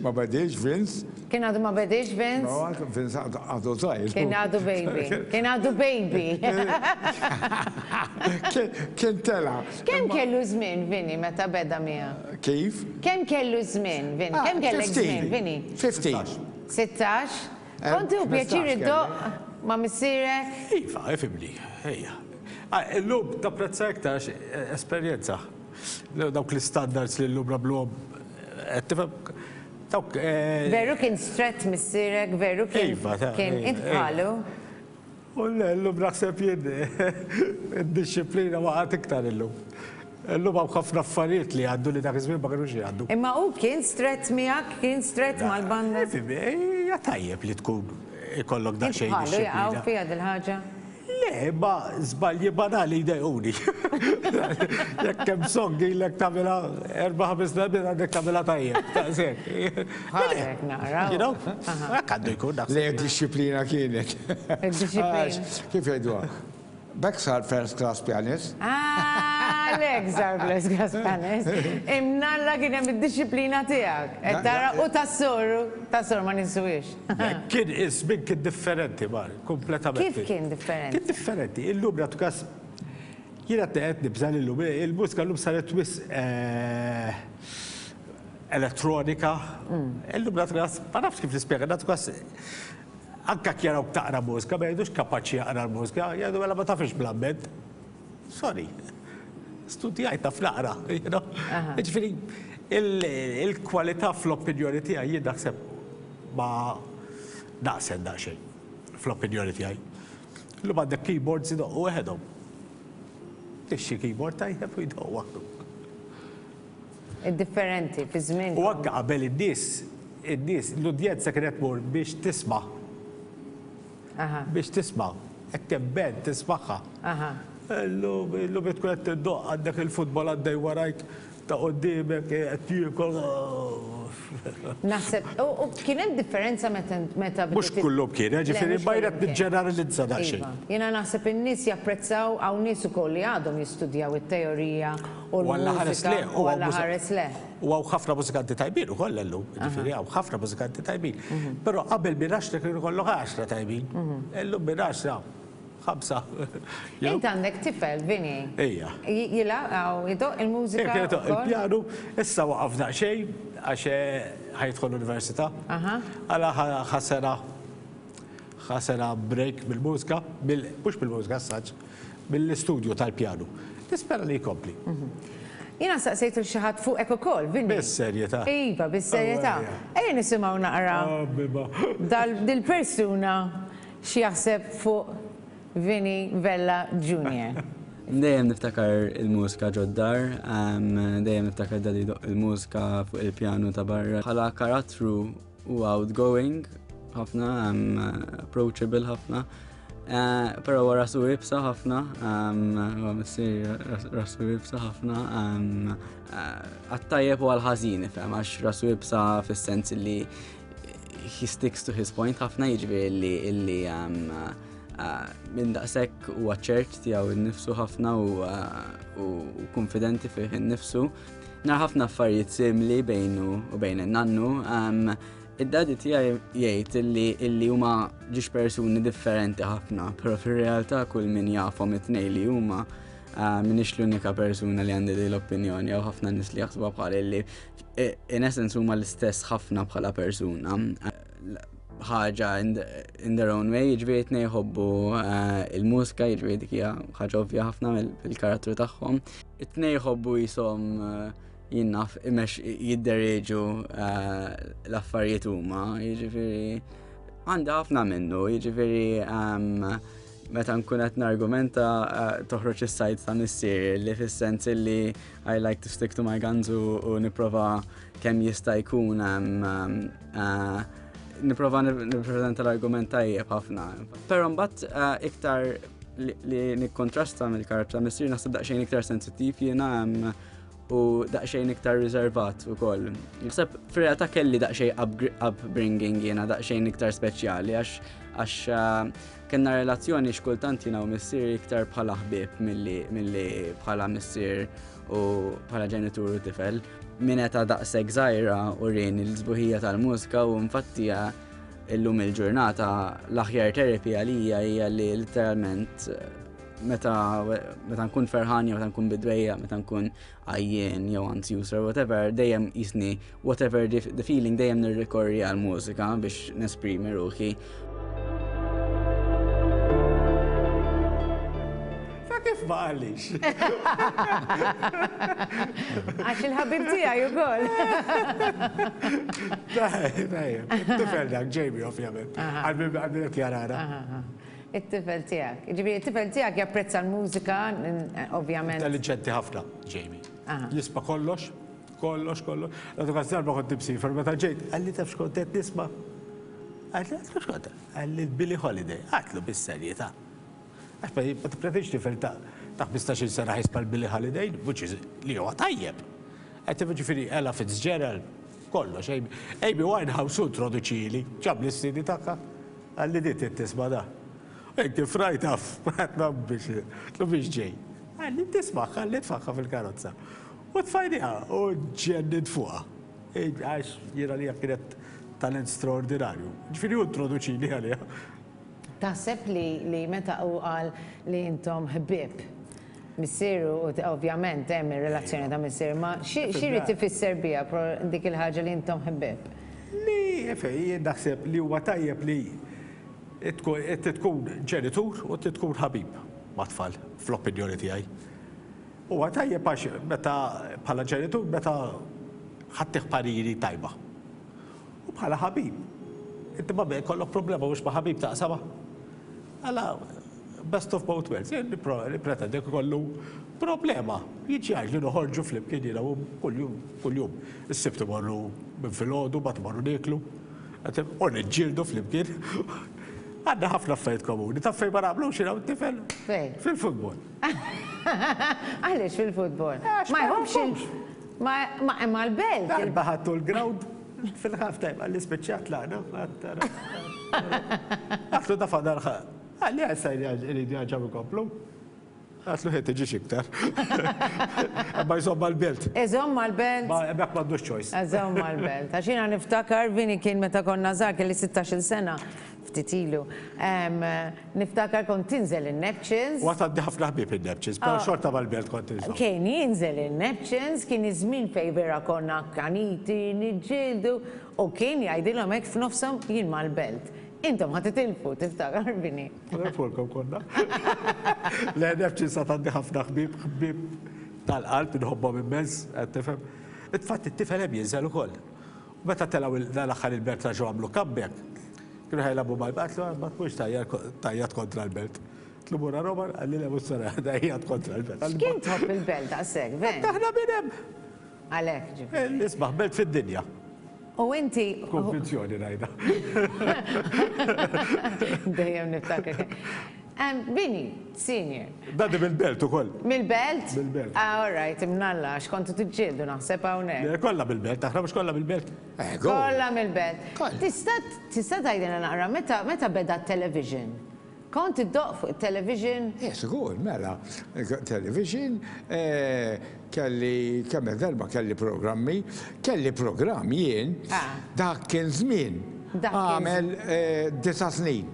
ma bediex Vince. Kien għadu ma bediex Vince? No, Vince għadu żgħir. Kien għadu baby. Kien għadu baby. Kien tela'. Kemm kellu żmien Vinny meta beda miegħek? Kif? Kemm kellu żmien Vinny? Kemm kellek żmien Vinny? 15. 16? Kont tieħu pjaċir iddoqq ma' missierek? Iva, ifhimni, ejja. Illum tapprezza iktar għax esperjenza. Dawk l-istandards li llum nagħmluhom, qed tifhem? Dawk. Veru kien strett missierek, veru kien. Iva, Kien int bħalu? U le, illum naħseb jien id-dixxiplina waqgħet iktar illum. Illum hawn ħafna affarijiet li jgħaddu li dak iż-żmien ma kinux jgħaddu. Imma hu kien strett miegħek, kien strett mal-banda? Hija tajjeb li tkun ikollok daqsxejn Int bħalu dixxiplina. jaqgħu fiha dil-ħaġa? Le, imma żbalji banali jdejquni. Jekk hemm song ilek tagħmilha erba' ħames darbiet għandek tagħmilha tajjeb. Daqshekk. Bħalek naqra. You know? Hekk għandu jkun naħseb. Le, dixxiplina kienet. Id-dixxiplina. Kif jgħiduha? B'hekk sar first class pianist. Ah, għalhekk sar first class pianist. Imnalla kien hemm id-dixxiplina tiegħek. Qed tara u tas-soru, tas-soru ma ninsuhiex. Kien iż-żmien kien differenti, Mar, kompletament. Kif kien differenti? Kien differenti. Illum nagħtu każ jiena qed nibża' li llum il-mużika llum saret wisq elettronika. Illum nagħtu każ, ma nafx kif nispjega, nagħtu każ anke jekk jarawk taqra mużika ma jgħidux kapaċi jaqra l-mużika, jgħidu mela ma tafx bl-amment. Sorry. Studjajt naf naqra, you know. Jiġifieri il-kwalità fl-opinjoni tiegħi jien naħseb ma naqset daqsxejn fl-opinjoni tiegħi. Illum għandek keyboards idoqqu weħedhom. Tixtri keyboard tajjeb u jdoqq waħdu. Differenti fi żmien. U anke qabel in-nies, in-nies, l-udjenza kienet tmur biex tisma'. Biex tisma'. Hekk hemm band tismagħha. Illum, illum tkun qed tiddoqq għandek il-futbol għaddej warajk ta' quddiemek qed jiekol. Naħseb, u kien hemm differenza meta meta Mhux kullum kien, eh, ġifieri ma jien qed niġġeneralizza daqsxejn. Iva. Jiena naħseb in-nies japprezzaw hawn nies ukoll li għadhom jistudjaw it-teorija u l-mużika u Alla ħares le. U hawn ħafna mużikanti tajbin ukoll illum, ġifieri hawn ħafna mużikanti tajbin. Però qabel minn għaxra kien ikollok għaxra tajbin. Illum minn għaxra ħamsa. Int għandek tifel, Vinny. Ejja. Jilgħab hawn idoqq il-mużika? Kien idoqq il-pjanu, issa waqaf daqsxejn għax ħa jidħol l-università. Għala ħa sena ħa sena break mill-mużika, mhux mill-mużika as such, mill-istudju tal-pjanu. Nispera li jkompli. Jiena staqsejt lil xi ħadd fuqek ukoll, Vinny. Bis-serjetà. Iva, bis-serjetà. Ejja nisimgħu naqra dil-persuna x'jaħseb fuq Vinny Vella Junior. Dejjem niftakar il-mużika ġod-dar, dejjem niftakar daddy jdoqq il-mużika fuq il-pjanu ta' barra. Bħala karattru huwa outgoing ħafna, approachable ħafna. Eh, però huwa rasu ibsa ħafna, huwa missier rasu ibsa ħafna, eh, għat-tajjeb u għal-ħażin, ifhem, għax rasu ibsa fis-sens li he sticks to his point ħafna jiġifieri illi illi eh, minn daqshekk huwa ċert tiegħu innifsu ħafna u konfidenti fih innifsu. Nar ħafna affarijiet simili bejnu u bejn in-nannu. Id-daddy tiegħi jgħid illi illi huma ġiex persuni differenti ħafna, però fir-realtà kull min jafhom it-tnejn li huma eh, minix l-unika persuna li għandi din l-opinjoni jew ħafna nies li jaħsbuha bħal illi eh, in essence huma l-istess ħafna bħala persuna. Ħaġa in their own way, jiġifieri tnejn jħobbu eh, il-mużika, jiġifieri dik hija ħaġa ovvja ħafna mill-karattru tagħhom. It-tnejn jħobbu jisom jien naf imex jidderieġu eh, l-affarijiet huma, jiġifieri għandha ħafna minnu, jiġifieri ehm, meta nkun qed nargumenta eh, toħroġ is-sajt ta' missier li fis-sens li I like to stick to my guns u nipprova kemm jista' jkun ehm, ehm, eh, nipprova nippreżenta l-argument tajjeb ħafna. Però mbagħad iktar li nikkontrasta mill-karattru ta' missier naħseb daqsxejn iktar sensittiv jiena u daqsxejn iktar riservat ukoll. Naħseb fir-realtà kelli daqsxejn upbringing jiena daqsxejn iktar speċjali għax għax eh, kellna relazzjoni xkultant jiena u missier iktar bħala ħbieb milli bħala missier u bħala ġenitur u tifel. Minn età daqshekk żgħira u rini l-sbuħija tal-mużika u infatti eh, illum il-ġurnata l-aħjar therapy għalija hija li literalment eh, meta meta nkun ferħan jew meta nkun bidwejja, meta nkun għajjien jew anzjuż or whatever, dejjem jisni whatever the, the feeling dejjem nirrikorri għal mużika biex nesprimi ruħi. Ta' kif ma qalix? Għax il-ħabib tiegħi ukoll. Tajjeb, tifel dak Jamie ovvjament. Għal min qed jarana. It-tifel tiegħek. Jiġifieri t-tifel tiegħek japprezza l-mużika, ovvjament. Intelliġenti ħafna, Jamie. Jisma' kollox, kollox, kollox. Għadu każ darba kont imsiefer meta ġejt, qalli taf x'kont qed nisma'? Għedtlu x'kont? Qalli Billie Holiday. Għedtlu bis-serjetà. Għax ma tippretendix tifel ta' 15-il sena ħa jisma' l-Billie Holiday, which is li huwa tajjeb. Għedtlu ġifieri Ella Fitzgerald, kollox. Amy Winehouse hu introduċieli, ġabli s-CD tagħha. Qalli di trid tisma' da. U jien kif rajtha għedtlu biex għedtlu biex ġej. Qalli tismagħha, qalli tfagħha fil-karozza. U tfajniha u ġġennint fuqha. Għax jien għalija kienet talent straordinarju. Ġifieri hu introduċini għaliha. Taħseb li li meta hu qal li intom ħbieb, missieru u ovvjament hemm ir-relazzjoni ta' missier ma xi jrid ifisser biha dik il-ħaġa li intom ħbieb? Li, jien naħseb li huwa tajjeb li inti tkun ġenitur u inti tkun ħabib mat-tfal, fl-opinjoni tiegħi. Huwa tajjeb għax meta bħala ġenitur meta ħaddih pariri tajba. U bħala ħabib. Inti ma jkollok problema mhux ma' ħabib taqsama. Għala best of both worlds. Jien nippretendi ikollu problema. Jiġi li noħorġu flimkien jiena u kuljum kuljum. Is-Sibt imorru minn filgħodu, mbagħad imorru nieklu. U niġġieldu flimkien. Għandna ħafna affarijiet komuni. Taf fejn ma naqblux jiena u t-tifel? Fejn? Fil-futbol. Għaliex fil-futbol? Ma jħobbx il. Ma imma l-belt. Darba ħadtu l-ground fil-half time għalli spiċċat lagħna. Għatlu da fadal Għalli għassa jridu jarġaw ikomplu. Għatlu ħed tiġix iktar. Ma jżomm mal-belt. Iżomm mal-belt. Ma hemmhekk m'għandux choice. Iżomm mal-belt. Għax jiena niftakar Vini kien meta konna żgħar kelli 16-il sena ftit ilu. Niftakar kont tinżel in-Neptunes. U għad għandi ħafna ħbieb in-Neptunes, però xorta mal-belt kont inżomm. Kien jinżel in-Neptunes, kien iż-żmien fejn vera konna akkaniti, niġġieldu, u kien jgħidilhom hekk f'nofshom jien mal-belt. Intom ħa titilfu, tiftakar Vini? Nagħrfulkom konna. Le, Neptunes għad għandi ħafna ħbieb, ħbieb tal-qalb, inħobbhom immens, qed tifhem. Infatti t-tifel hemm jinżel ukoll. U meta telgħu dal-aħħar il-belt reġgħu għamlu comeback, kienu ħa jilagħbu mal-belt, għedtlu ma tmurx tgħajjat kontra l-belt. Għedtlu mur Roma, qalli le mhux se ngħajjat kontra l-belt. X'kien tħobb il-belt daqshekk, Ven? Aħna minn hemm. Għalhekk ġifieri. L-isbaħ belt fid-dinja. U inti. B'konvinzjoni ngħidha. Dejjem niftakar. Bini, senior. Dadi mill-belt ukoll. Mill-belt? Mill-belt. Ah, all right, imnalla, għax kontu tiġġieldu naħseb hawnhekk. Kollha mill-belt, aħna mhux kollha mill-belt. Eh, kollha mill-belt. Tista' tista' tgħidilna naqra meta meta beda t-television? Kont iddoqq fuq it-television? Eh, sigur, mela. Television, eh, kelli kemm darba kelli programmi, kelli programm jien, ah. dak kien żmien. Għamel eh, disa snin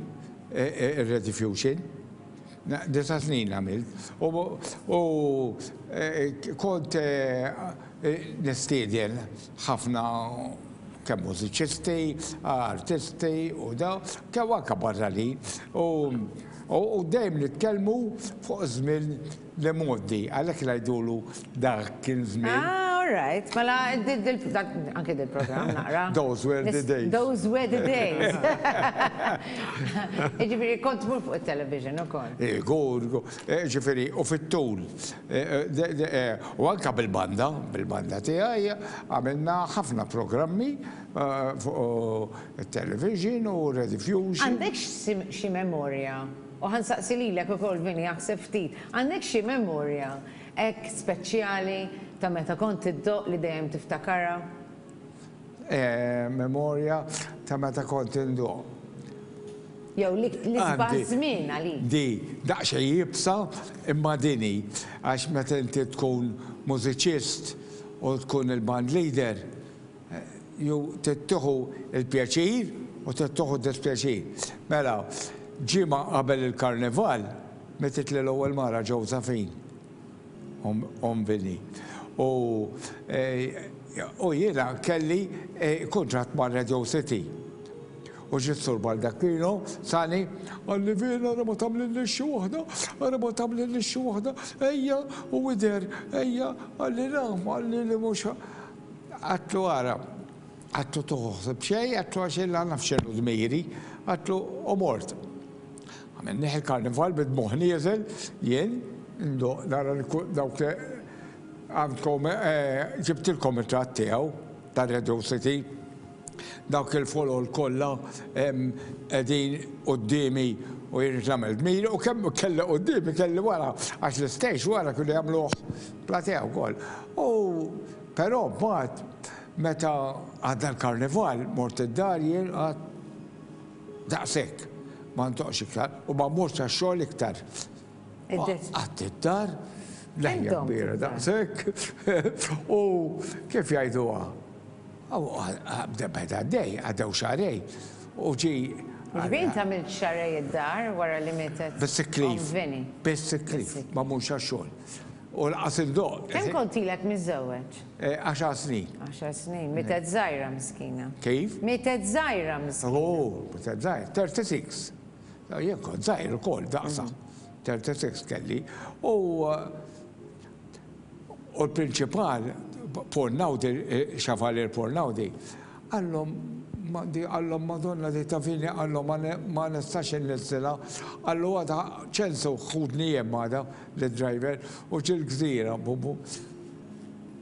eh, ir-Rediffusion. Disa snin għamilt. U kont nistieden ħafna kemm mużiċisti, artisti u da, kemm anke barranin. U dejjem nitkellmu fuq żmien l-imgħoddi, għalhekk ngħidulu dak kien żmien. Ah, all right. Mela, anke dil-programm naqra. Those were the days. Those were the days. Jiġifieri kont tmur fuq it-television ukoll. Gur, ġifieri, u fit-tul. U anke bil-banda, bil-banda tiegħi għamilna ħafna programmi fuq it-television u Rediffusion. Għandek xi memorja, u ħa nsaqsi lilek ukoll Vinny aħseb ftit, għandek xi memorja hekk speċjali ta' meta kont iddoqq li dejjem tiftakarha? Memorja ta' meta kont indoqq. Jew l-isbaħ żmien għalik. Di, daqsxejn iebsa, imma din hi, għax meta inti tkun mużiċist u tkun il-band leader, ju trid tieħu l-pjaċir u trid tieħu d-dispjaċir. Mela, ġimgħa qabel il-karnival, mititli l-ewwel mara Josephine. Omm Vinny. U u jiena kelli kuntratt ma' Radio City. U ġie s-Sur Baldacchino sani, qalli Vin ara ma tagħmlilniex xi waħda, ara ma tagħmlilniex xi waħda, ejja u idher, ejja, qalli naf, qalli li mhux Għedtlu ara, għedtlu tieħu ħsieb xejn, għedtlu għax jien la naf x'inhu dmiri, għedtlu u mort. Għamilnieh il-karnival bid-dmugħ nieżel, jien ndoqq nara li dawk li għandkom ġibtilkom ritratt tiegħu ta' Radio City. Dawk il-folol kollha qegħdin quddiemi u jien irrid nagħmel dmiri u kemm kelli quddiemi kelli wara għax l-istage wara kienu jagħmluh platea wkoll. U però mbagħad meta għadda l-karnival mort id-dar jien għad Daqshekk. Ma ntoqx iktar u ma mmurx għax-xogħol iktar. Qatt id-dar, leħja kbira daqshekk, u kif jgħiduha? Beda għaddej, għaddew xahrejn, u ġie. Ġifieri int għamilt xahrejn id-dar wara li mietet Bis-sick leave. Bis-sick leave, ma mmurx għax-xogħol. U lanqas indoqq. Kemm kont ilek miżżewweġ? Għaxar snin. Għaxar snin. Mietet żgħira miskina. Kif? Mietet żgħira miskina. Oh, mietet żgħira. 36. Jien kont żgħir ukoll daqsha. 36 kelli. U. U l-prinċipal, Paul Naudi, Chevalier Paul Naudi, qallhom, qallhom Madonna di ta' Vini, qallhom ma nistax inniżżilha, qallu għada ċensu ħudni jien għada lid-driver u ġie l-gżira.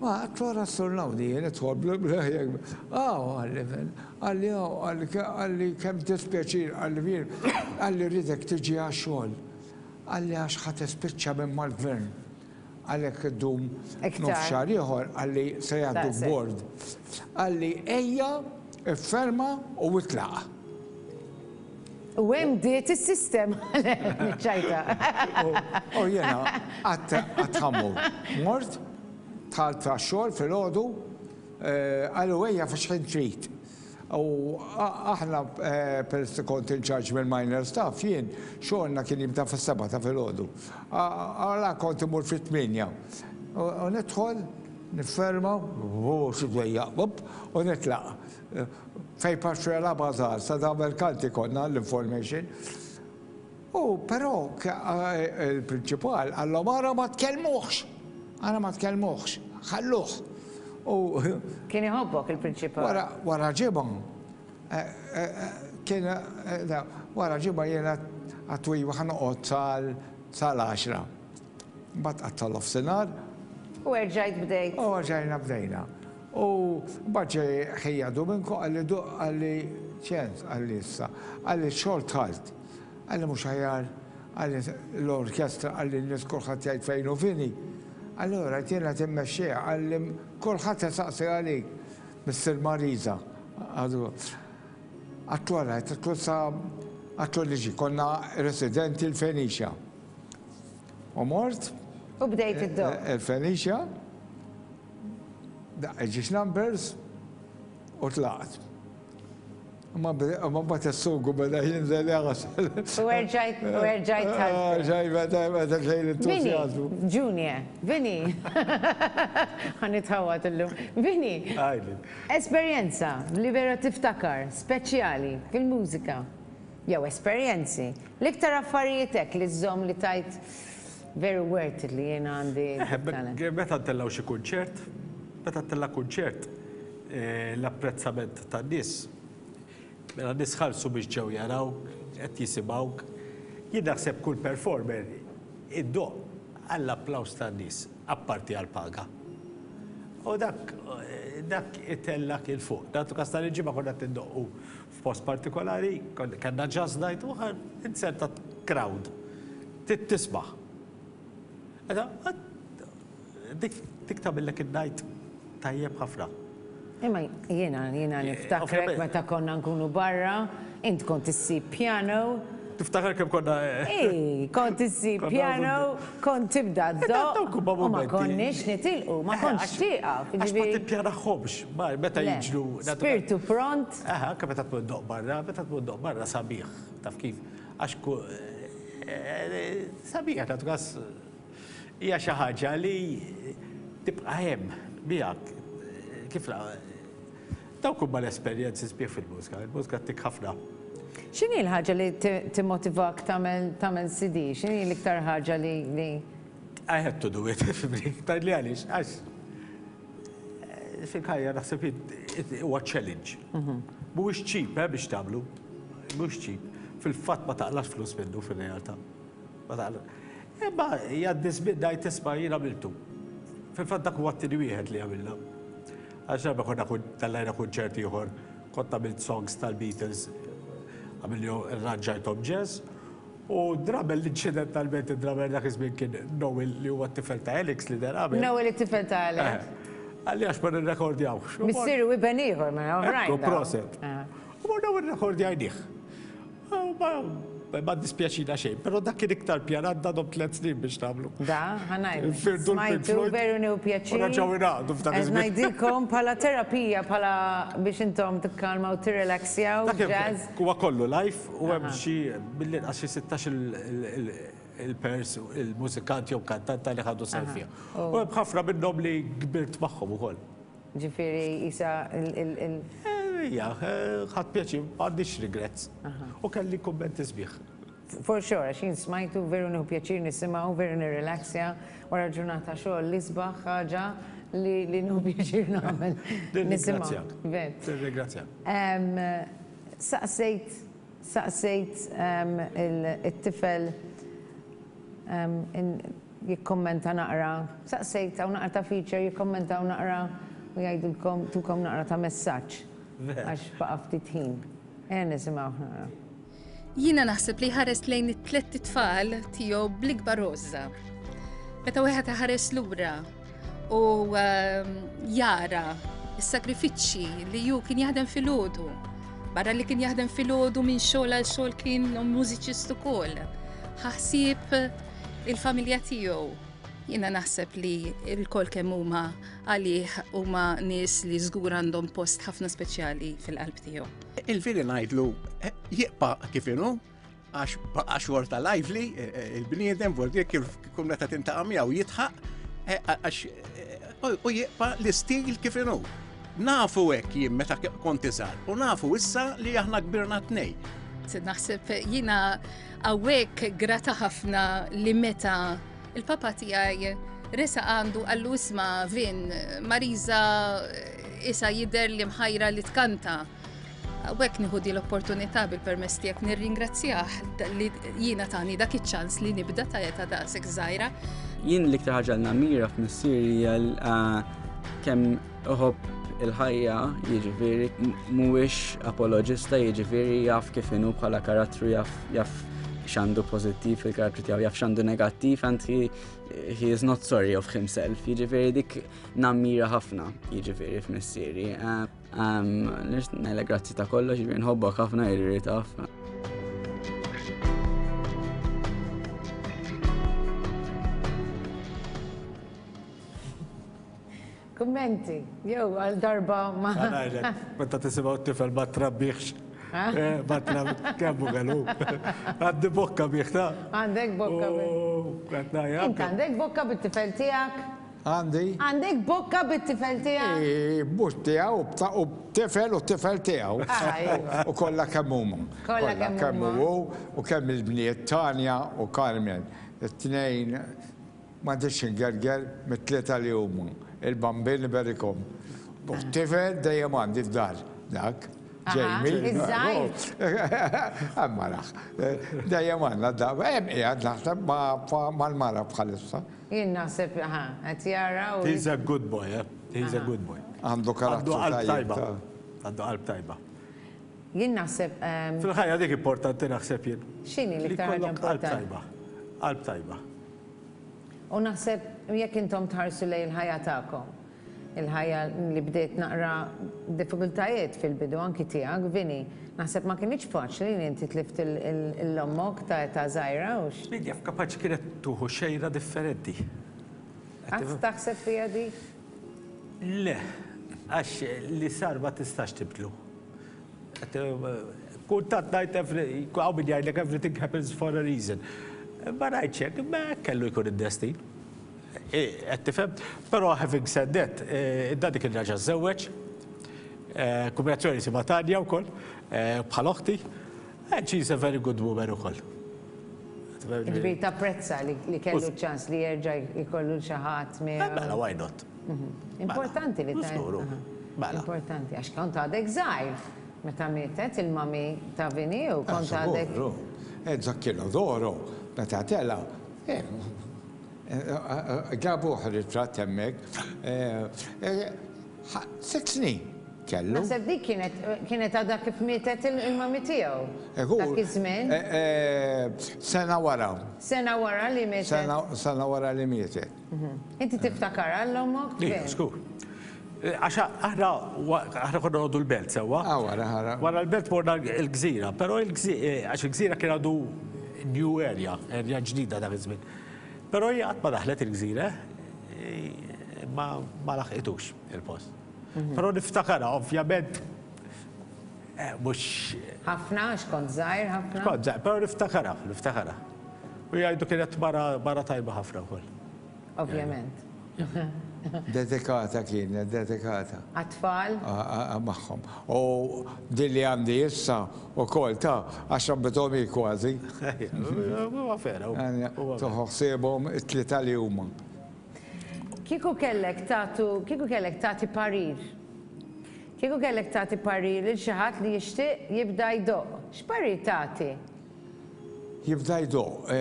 Ma għedtlu ara s-Sur Naudi jien idħol bl-, aw qalli, qalli aw, qalli kemm dispjaċir, qalli jien, qalli rridek tiġi għax-xogħol, qalli għax ħa tispiċċa minn mal-gvern. Għalhekk iddum nofs xahar ieħor qalli se jgħadduk bord. Qalli ejja, ifferma u itlaq. U hemm bdiet is-sistema ċajta. U jiena qatt ħammur. Mort, dħalt għax-xogħol filgħodu, qalu ejja f'x'ħin trid. U aħna peress li kont in charge mill-minor staff jien, xogħolna kien jibda fis-sebgħa ta' filgħodu. Allura kont immur fit-tmienja. U nidħol, nifferma, u xi dwejjaq, u nitlaq. Fejn Paxxuela Bazaar, sa da Mercanti konna l-information. U però il-prinċipal qallhom ara ma tkellmuhx! Ara ma tkellmuhx, ħalluh! U Kien iħobbok il-prinċipal? Wara wara ġimgħa kien wara ġimgħa jiena għadtu iva ħa noqgħod sal sal-għaxra. Mbagħad qatt tal-nofsinhar. U erġajt bdejt. U erġajna bdejna. U mbagħad ġej ħija Dominko qalli qalli ċens qalli issa, qalli x-xogħol dħalt. Qalli mhux aħjar, qalli l-orkestra, qalli n-nies kulħadd jgħid fejn hu Vinny. Allura għidt jien qed immexxiha, qalli kulħadd isaqsi għalik, Missier Marisa. Għadtlu ara, għedtlu sa għadtlu niġi, konna residenti l-Fenicia. U mort. U bdejt iddoqq. Il-Fenicia, daqqejt ġiex numbers u tlaqt. Imma mbagħad is-sugu beda jinżel jaħsel. U erġajt u erġajt tħallsu. Erġajt beda beda xejn entużjażmu. Vini, Junior, Vini. Ħa nitħawwad illum. Vini. Għidli. Esperjenza li vera tiftakar, speċjali, fil-mużika. Jew esperjenzi. L-iktar affarijiet hekk li żżomm li tgħid veru worth it li jiena għandi talent. Meta ntellgħu xi kunċert, meta ttella' kunċert, l-apprezzament tan-nies, mela n-nies ħallsu biex ġew jarawk, qed jisimgħuk. Jien naħseb kull performer iddoqq għall-applaws tan-nies, apparti għall-paga. U dak dak itellgħek 'il fuq. Nagħtu każ nhar il-Ġimgħa konna qed indoqqu f'post partikolari, kellna jazz night u inzertat crowd. Trid tisma'. Dik dik tagħmillek in-night tajjeb ħafna. Imma jiena jiena niftakrek meta konna nkunu barra, int kont issib piano. Tiftakar kemm konna. Ii, kont issib piano, kont tibda ddoqq u ma konniex nitilqu, ma kontx tieqaf. Għax ma tippjanahomx, meta jiġru. Spirtu pront. Aha, anke meta tmur ddoqq barra, meta tmur ddoqq barra sabiħ, taf kif. Għax sabiħ, nagħtu każ. Hija xi ħaġa li tibqa' hemm miegħek. Kif dawk huma l-esperjenzi sbieħ fil-mużika. Il-mużika ttik ħafna. X'inhi l-ħaġa li timmotivak tagħmel tagħmel CD? X'inhi l-iktar ħaġa li li I had to do it, fimni. Tgħidli għaliex? Għax fil-ħajja naħseb huwa challenge. Mhuwiex cheap eh, biex tagħmlu. Mhuwiex cheap. Fil-fatt ma taqlax flus minnu fir-realtà. Imma jgħaddi żmien ngħid isma' jien għamiltu. Fil-fatt dak huwa t-tieni wieħed li għamilna. Għax darba konna tellajna kunċert ieħor, kont għamilt songs tal-Beatles, għamilni rranġajthom jazz, u drummer l-inċidentalment id-drummer dak iż-żmien kien Noel li huwa t-tifel ta' Alex li der qabel. Noel it-tifel ta' Alex. Qalli għax ma nirrekordjawx. Missier u iben ieħor mela oħrajn. Proset. U morna u rrekordjajnih. Ma ddispjaċina xejn, però dak kien iktar pjanat da dom tlet snin biex nagħmlu. Da, ħa ngħidlek. Smajtu veru nieħu pjaċir. U nerġgħu ingħaqdu f'dak iż-żmien. Qed ngħidilkom bħala terapija, bħala biex intom tikkalmaw, tirrelaxjaw, jazz. Huwa kollu live u hemm xi mill-inqas xi 16 il-pers, il-mużikant jew kantanta li ħadu sehem fiha. U hemm ħafna minnhom li kbirt magħhom ukoll. Ġifieri qisha il. Ejja, ħadt pjaċir, m'għandix regrets. U kelli kummenti sbieħ. For sure, għax jien smajtu veru nieħu pjaċir nisimgħu, veru nirrilaxja wara ġurnata xogħol l-isbaħ ħaġa li li nieħu pjaċir nagħmel. Nirringrazzjak. Nirringrazzjak. Saqsejt saqsejt it-tifel jikkommenta naqra, saqsejt hawn naqra ta' feature jikkommentaw naqra u jgħidulkom tukom naqra ta' messaġġ. Għax baqa' ftit ħin. Ejja nisimgħuh naqra. Jiena naħseb li jħares lejn it-tlett itfal tiegħu bl-ikbar għożża. Meta wieħed iħares lura u ehm, jara s-sagrifiċċji li ju kien jaħdem filgħodu. Barra li kien jaħdem filgħodu minn xogħol għal xogħol kien mużiċist ukoll. Ħaħsieb il-familja tiegħu. Jiena naħseb li l-kol kemm huma għalih huma nies li żgur għandhom post ħafna speċjali fil-qalb tiegħu. Il-vili ngħidlu eh, jibqa' kif inhu għax baqa' xorta lively eh, eh, il-bniedem vordi kif kull meta tintaqa' miegħu jitħaq għax u jibqa' l-istil kif inhu. Nafu hekk jien meta kont iżgħar u nafu issa li aħna kbirna tnej. Naħseb jiena hawnhekk grata ħafna li meta il-papa tiegħi resa għandu għallu isma' Vin Marisa isa jidher li mħajra li tkanta. Hawnhekk nieħu di l-opportunità bil-permess tiegħek nirringrazzjah li jiena tani dak iċ-ċans li nibda ta' età daqshekk żgħira. Jien l-iktar ħaġa li nammira f'missieri hija kemm iħobb il-ħajja, jiġifieri mhuwiex apoloġista, jiġifieri jaf kif inhu bħala karattru, jaf jaf x'għandu pożittiv fil-karattru tiegħu, jaf x'għandu negattiv and he, he is not sorry of himself. Jiġifieri dik nammira ħafna, jiġifieri f'missieri. Nixtieq grazzi ta' kollox, jiġifieri nħobbok ħafna jiġifieri taf. Kummenti, jew għal darba ma. Meta tisimgħu t-tifel ma trabbiex. Eh, ma trabbiex, kemm kellu. Għandi bokka bih ta' Għandek bokka bih. Int għandek bokka bit-tifel tiegħek? Għandi. Għandek bokka bit-tifel tiegħek? Mhux tiegħu, u tifel u tifel tiegħu. Ah, iva. U kollha kemm huma. Kollha kemm huma. hu u kemm il-bniet Tanja u Carmen. It-tnejn m'għandix ingerger mit-tlieta li huma. Il-Bambin iberikhom. U tifel dejjem għandi d-dar dak. Jamie. Iż-żgħir. Hemm maraħ. Dejjem għandna d-dar. Hemm qiegħed naħseb mal-mara bħalissa. Jien naħseb, aha, qed jara u. He's a good boy, eh? He's a good boy. Għandu karattru tajba. Għandu qalb tajba. Jien naħseb. Fil-ħajja dik importanti naħseb jien. X'inhi l-iktar ħaġa importanti? Qalb tajba. Qalb tajba. U naħseb jekk intom tħarsu lejn il-ħajja tagħkom, il-ħajja li bdiet naqra diffikultajiet fil-bidu anki tiegħek, Vinny, naħseb ma kinitx faċli li inti tlift 'l ommok ta' età żgħira, hux? Min jaf, kapaċi kienet tuħu xejra differenti. Qatt taħseb fiha dik? Le, għax li sar ma tistax tibdlu. Kultant ngħid hawn min jgħidlek everything happens for a reason. Ma ngħidx hekk, imma hekk kellu jkun id-destin. Qed tifhem? Però having said that, id-daddy kien raġa' żżewweġ, kombinazzjoni jisimha Tanja wkoll, bħal oħti, and she is a very good woman ukoll. Jiġifieri tapprezza li kellu ċ-ċans li jerġa' jkollu 'l xi ħadd miegħu. Mela why not? Importanti li ta' Żgur. Mela. Importanti għax kont għadek żgħir meta mietet il-mami ta' Vinny u kont għadek. Żgur. Zacchino d'Oro meta tela' ġabuh ritratt hemmhekk. Sitt snin kellu. Naħseb dik kienet kienet għadha kif mietet il-mami tiegħu. Dak iż-żmien. Sena wara. Sena wara li mietet. Sena wara li mietet. Inti tiftakarha 'l ommok? Iva, żgur. Għax aħna aħna konna noqogħdu l-belt sewwa. Ah, wara, wara. Wara l-belt morna l-gżira, però għax il-gżira kien għadu new area, area ġdida dak iż-żmien. Però hija qatt ma daħlet il-gżira, ma ma laħqitux il-post. Però niftakarha, ovvjament, mhux. Ħafna, għax kont żgħir ħafna. Kont żgħir, però niftakarha, niftakarha. U jgħidu kienet mara mara tajba ħafna wkoll. Ovvjament. Dedikata kienet, dedikata. Għat-tfal? Magħhom. U din li għandi issa wkoll ta' għax rabbithom hi kważi. Huwa vera. Tieħu ħsiebhom it-tlieta li huma. Kieku kellek tagħtu, kieku kellek tagħti parir. Kieku kellek tagħti parir lil xi ħadd li jixtieq jibda jdoqq, x'parir tagħti? Jibda jdoqq,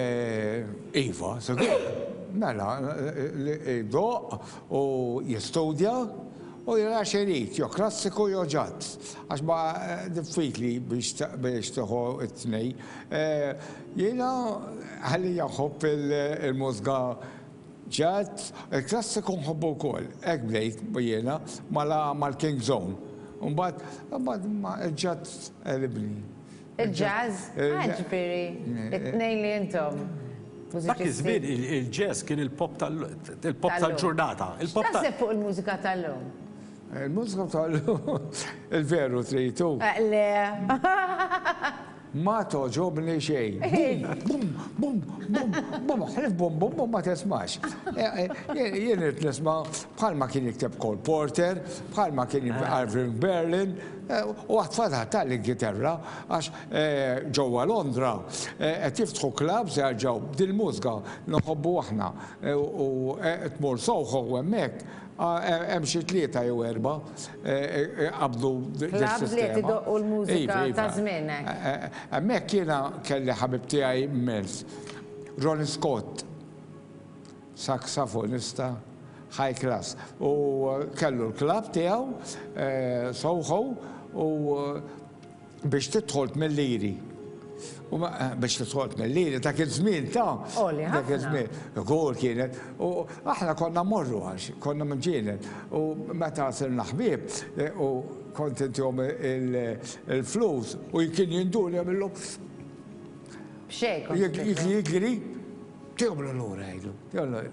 iva, sigur. Mela, jdoqq u jistudja u jara x'irid, jew klassiku jew jazz. Għax ma diffiċli biex tieħu t-tnejn. Jiena għalija nħobb il-mużika jazz, il-klassiku nħobbu wkoll. Hekk bdejt jiena mal-King's Own. Imbagħad il-jazz għelibni. Il-jazz? Ah, ġifieri, it-tnejn li intom. Dak iż-żmien il-jazz kien il-pop tal-ġurnata. X'taħseb fuq il-mużika tal-lum? Il-mużika tal-lum, il-veru tridu. Le. Ma togħġobni xejn. Bum, bum, bum, bum, ħlief bum, bum, bum ma tismax. Jien irid nisma' bħalma kien jikteb Cole Porter, bħalma kien Irving Berlin, U għad fadal tal-Ingilterra għax ġewwa Londra qed jiftħu clubs jerġgħu dil-mużika li nħobbu aħna u tmur Soho hemmhekk hemm xi tlieta jew erbgħa qabdu dis-sistema. Clubs li qed idoqqu l-mużika ta' żmienek. Hemmhekk jiena kelli ħabib tiegħi immens, Ronnie Scott. Saksafonista high class u kellu l-klabb tiegħu Soho u biex tidħol tmil liri. U biex tidħol tmil liri dak iż-żmien ta' dak iż-żmien. Gol kienet. U aħna konna mmorru għax konna mġienen. U meta sirna ħbieb u kont intihom il-flus u kien jinduni jagħmillu. B'xejn kont. Jigri. Tihomlu lura jgħidlu.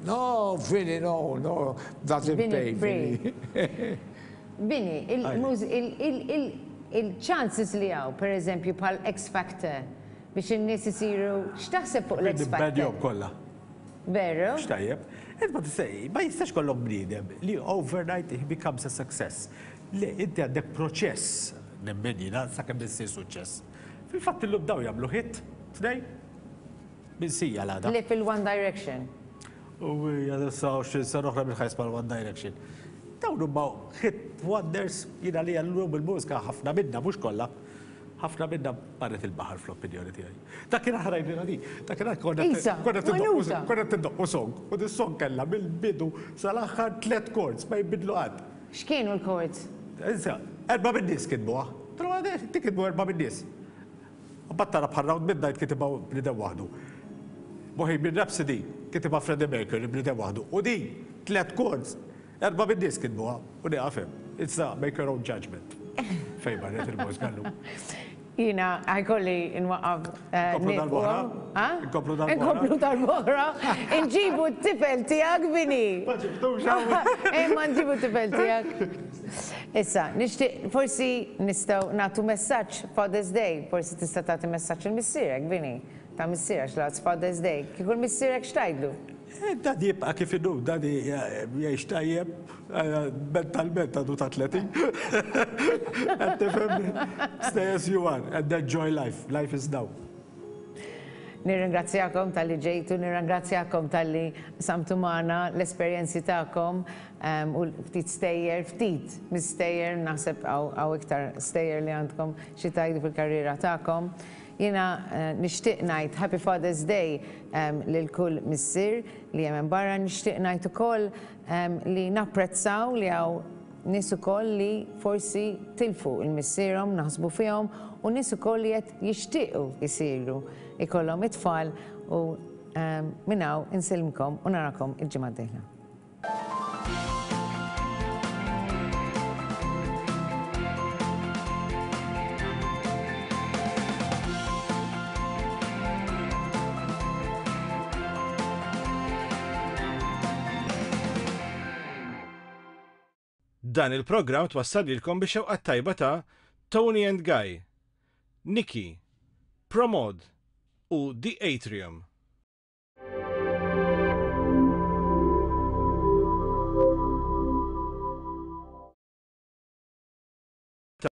No, Vinny, no, no, doesn't pay, Vinny. Vinny, il-chances li hawn, per eżempju, bħal X Factor, biex in-nies isiru, x'taħseb fuq l-X Factor? Nibbenjhom kollha. Veru? Mhux tajjeb. Int ma tista' ma jistax kollok bniedem li overnight he becomes a success. Le, inti għandek proċess, nemmen jiena, sakemm issir suċċess. Fil-fatt illum dawn jagħmlu hit, tnejn, Minsija l-għada. Li fil-One Direction. U hija issa 20 sena oħra minn ħajs mal-One Direction. Dawn huma hit wonders jiena li llum il-mużika ħafna minna mhux kollha. Ħafna minna marret il-baħar fl-opinjoni tiegħi. Dakinhar ħrajnilha di. Dakinhar konna konna tindoqqu song u dis-song kellha mill-bidu sal-aħħar tliet chords ma jinbidlu qatt. X'kienu l-chords? Issa, erbgħa min-nies kitbuha. Kitbu erbgħa min-nies. Mbagħad tara bħal Round Midnight kitibha bniedem waħdu. Bohemian Rhapsody kitibha Freddie Mercury bniedem waħdu. U din, tlett chords, erbgħa min-nies kitbuha u nieqaf hemm. Issa make your own judgement. Fejn marret il-mużika llum. Jiena ħajkolli nwaqqaf. Inkomplu darb'oħra? Inkomplu darb'oħra? Inkomplu darb'oħra. Inġibu t-tifel tiegħek, Vinny. Ma ġibtux hawn. Imma nġibu t-tifel tiegħek. Issa, nixtieq forsi nistgħu nagħtu messaġġ Father's Day, forsi tista' tagħti messaġġ lil missierek, Vinny, ta' missierek għax l-għada Father's Day. Kieku 'l missierek x'tgħidlu? Daddy jibqa' kif inhu, Daddy jgħix tajjeb, mentalment għadu ta' 30. Qed tifhem? Stay as you are and enjoy life, life is now. Nirringrazzjakom talli ġejtu, nirringrazzjakom talli qsamtu magħna l-esperjenzi tagħkom u ftit stejjer, ftit mis-stejjer, naħseb hawn iktar stejjer li għandkom xi tgħidu fil-karriera tagħkom. Jiena nixtieq ngħid Happy Father's Day lil kull missier li hemm hemm barra, nixtieq ngħid ukoll li napprezzaw li hawn Nies ukoll li forsi tilfu 'l missierhom naħsbu fihom u nies ukoll li qed jixtiequ jsiru jkollhom it-tfal u minn hawn insellmkom u narakom il-ġimgħa d-dieħla. Dan il-programm twassal lilkom bix-xewqat tajba ta' Toni and Guy, Nikki, Promod u The Atrium.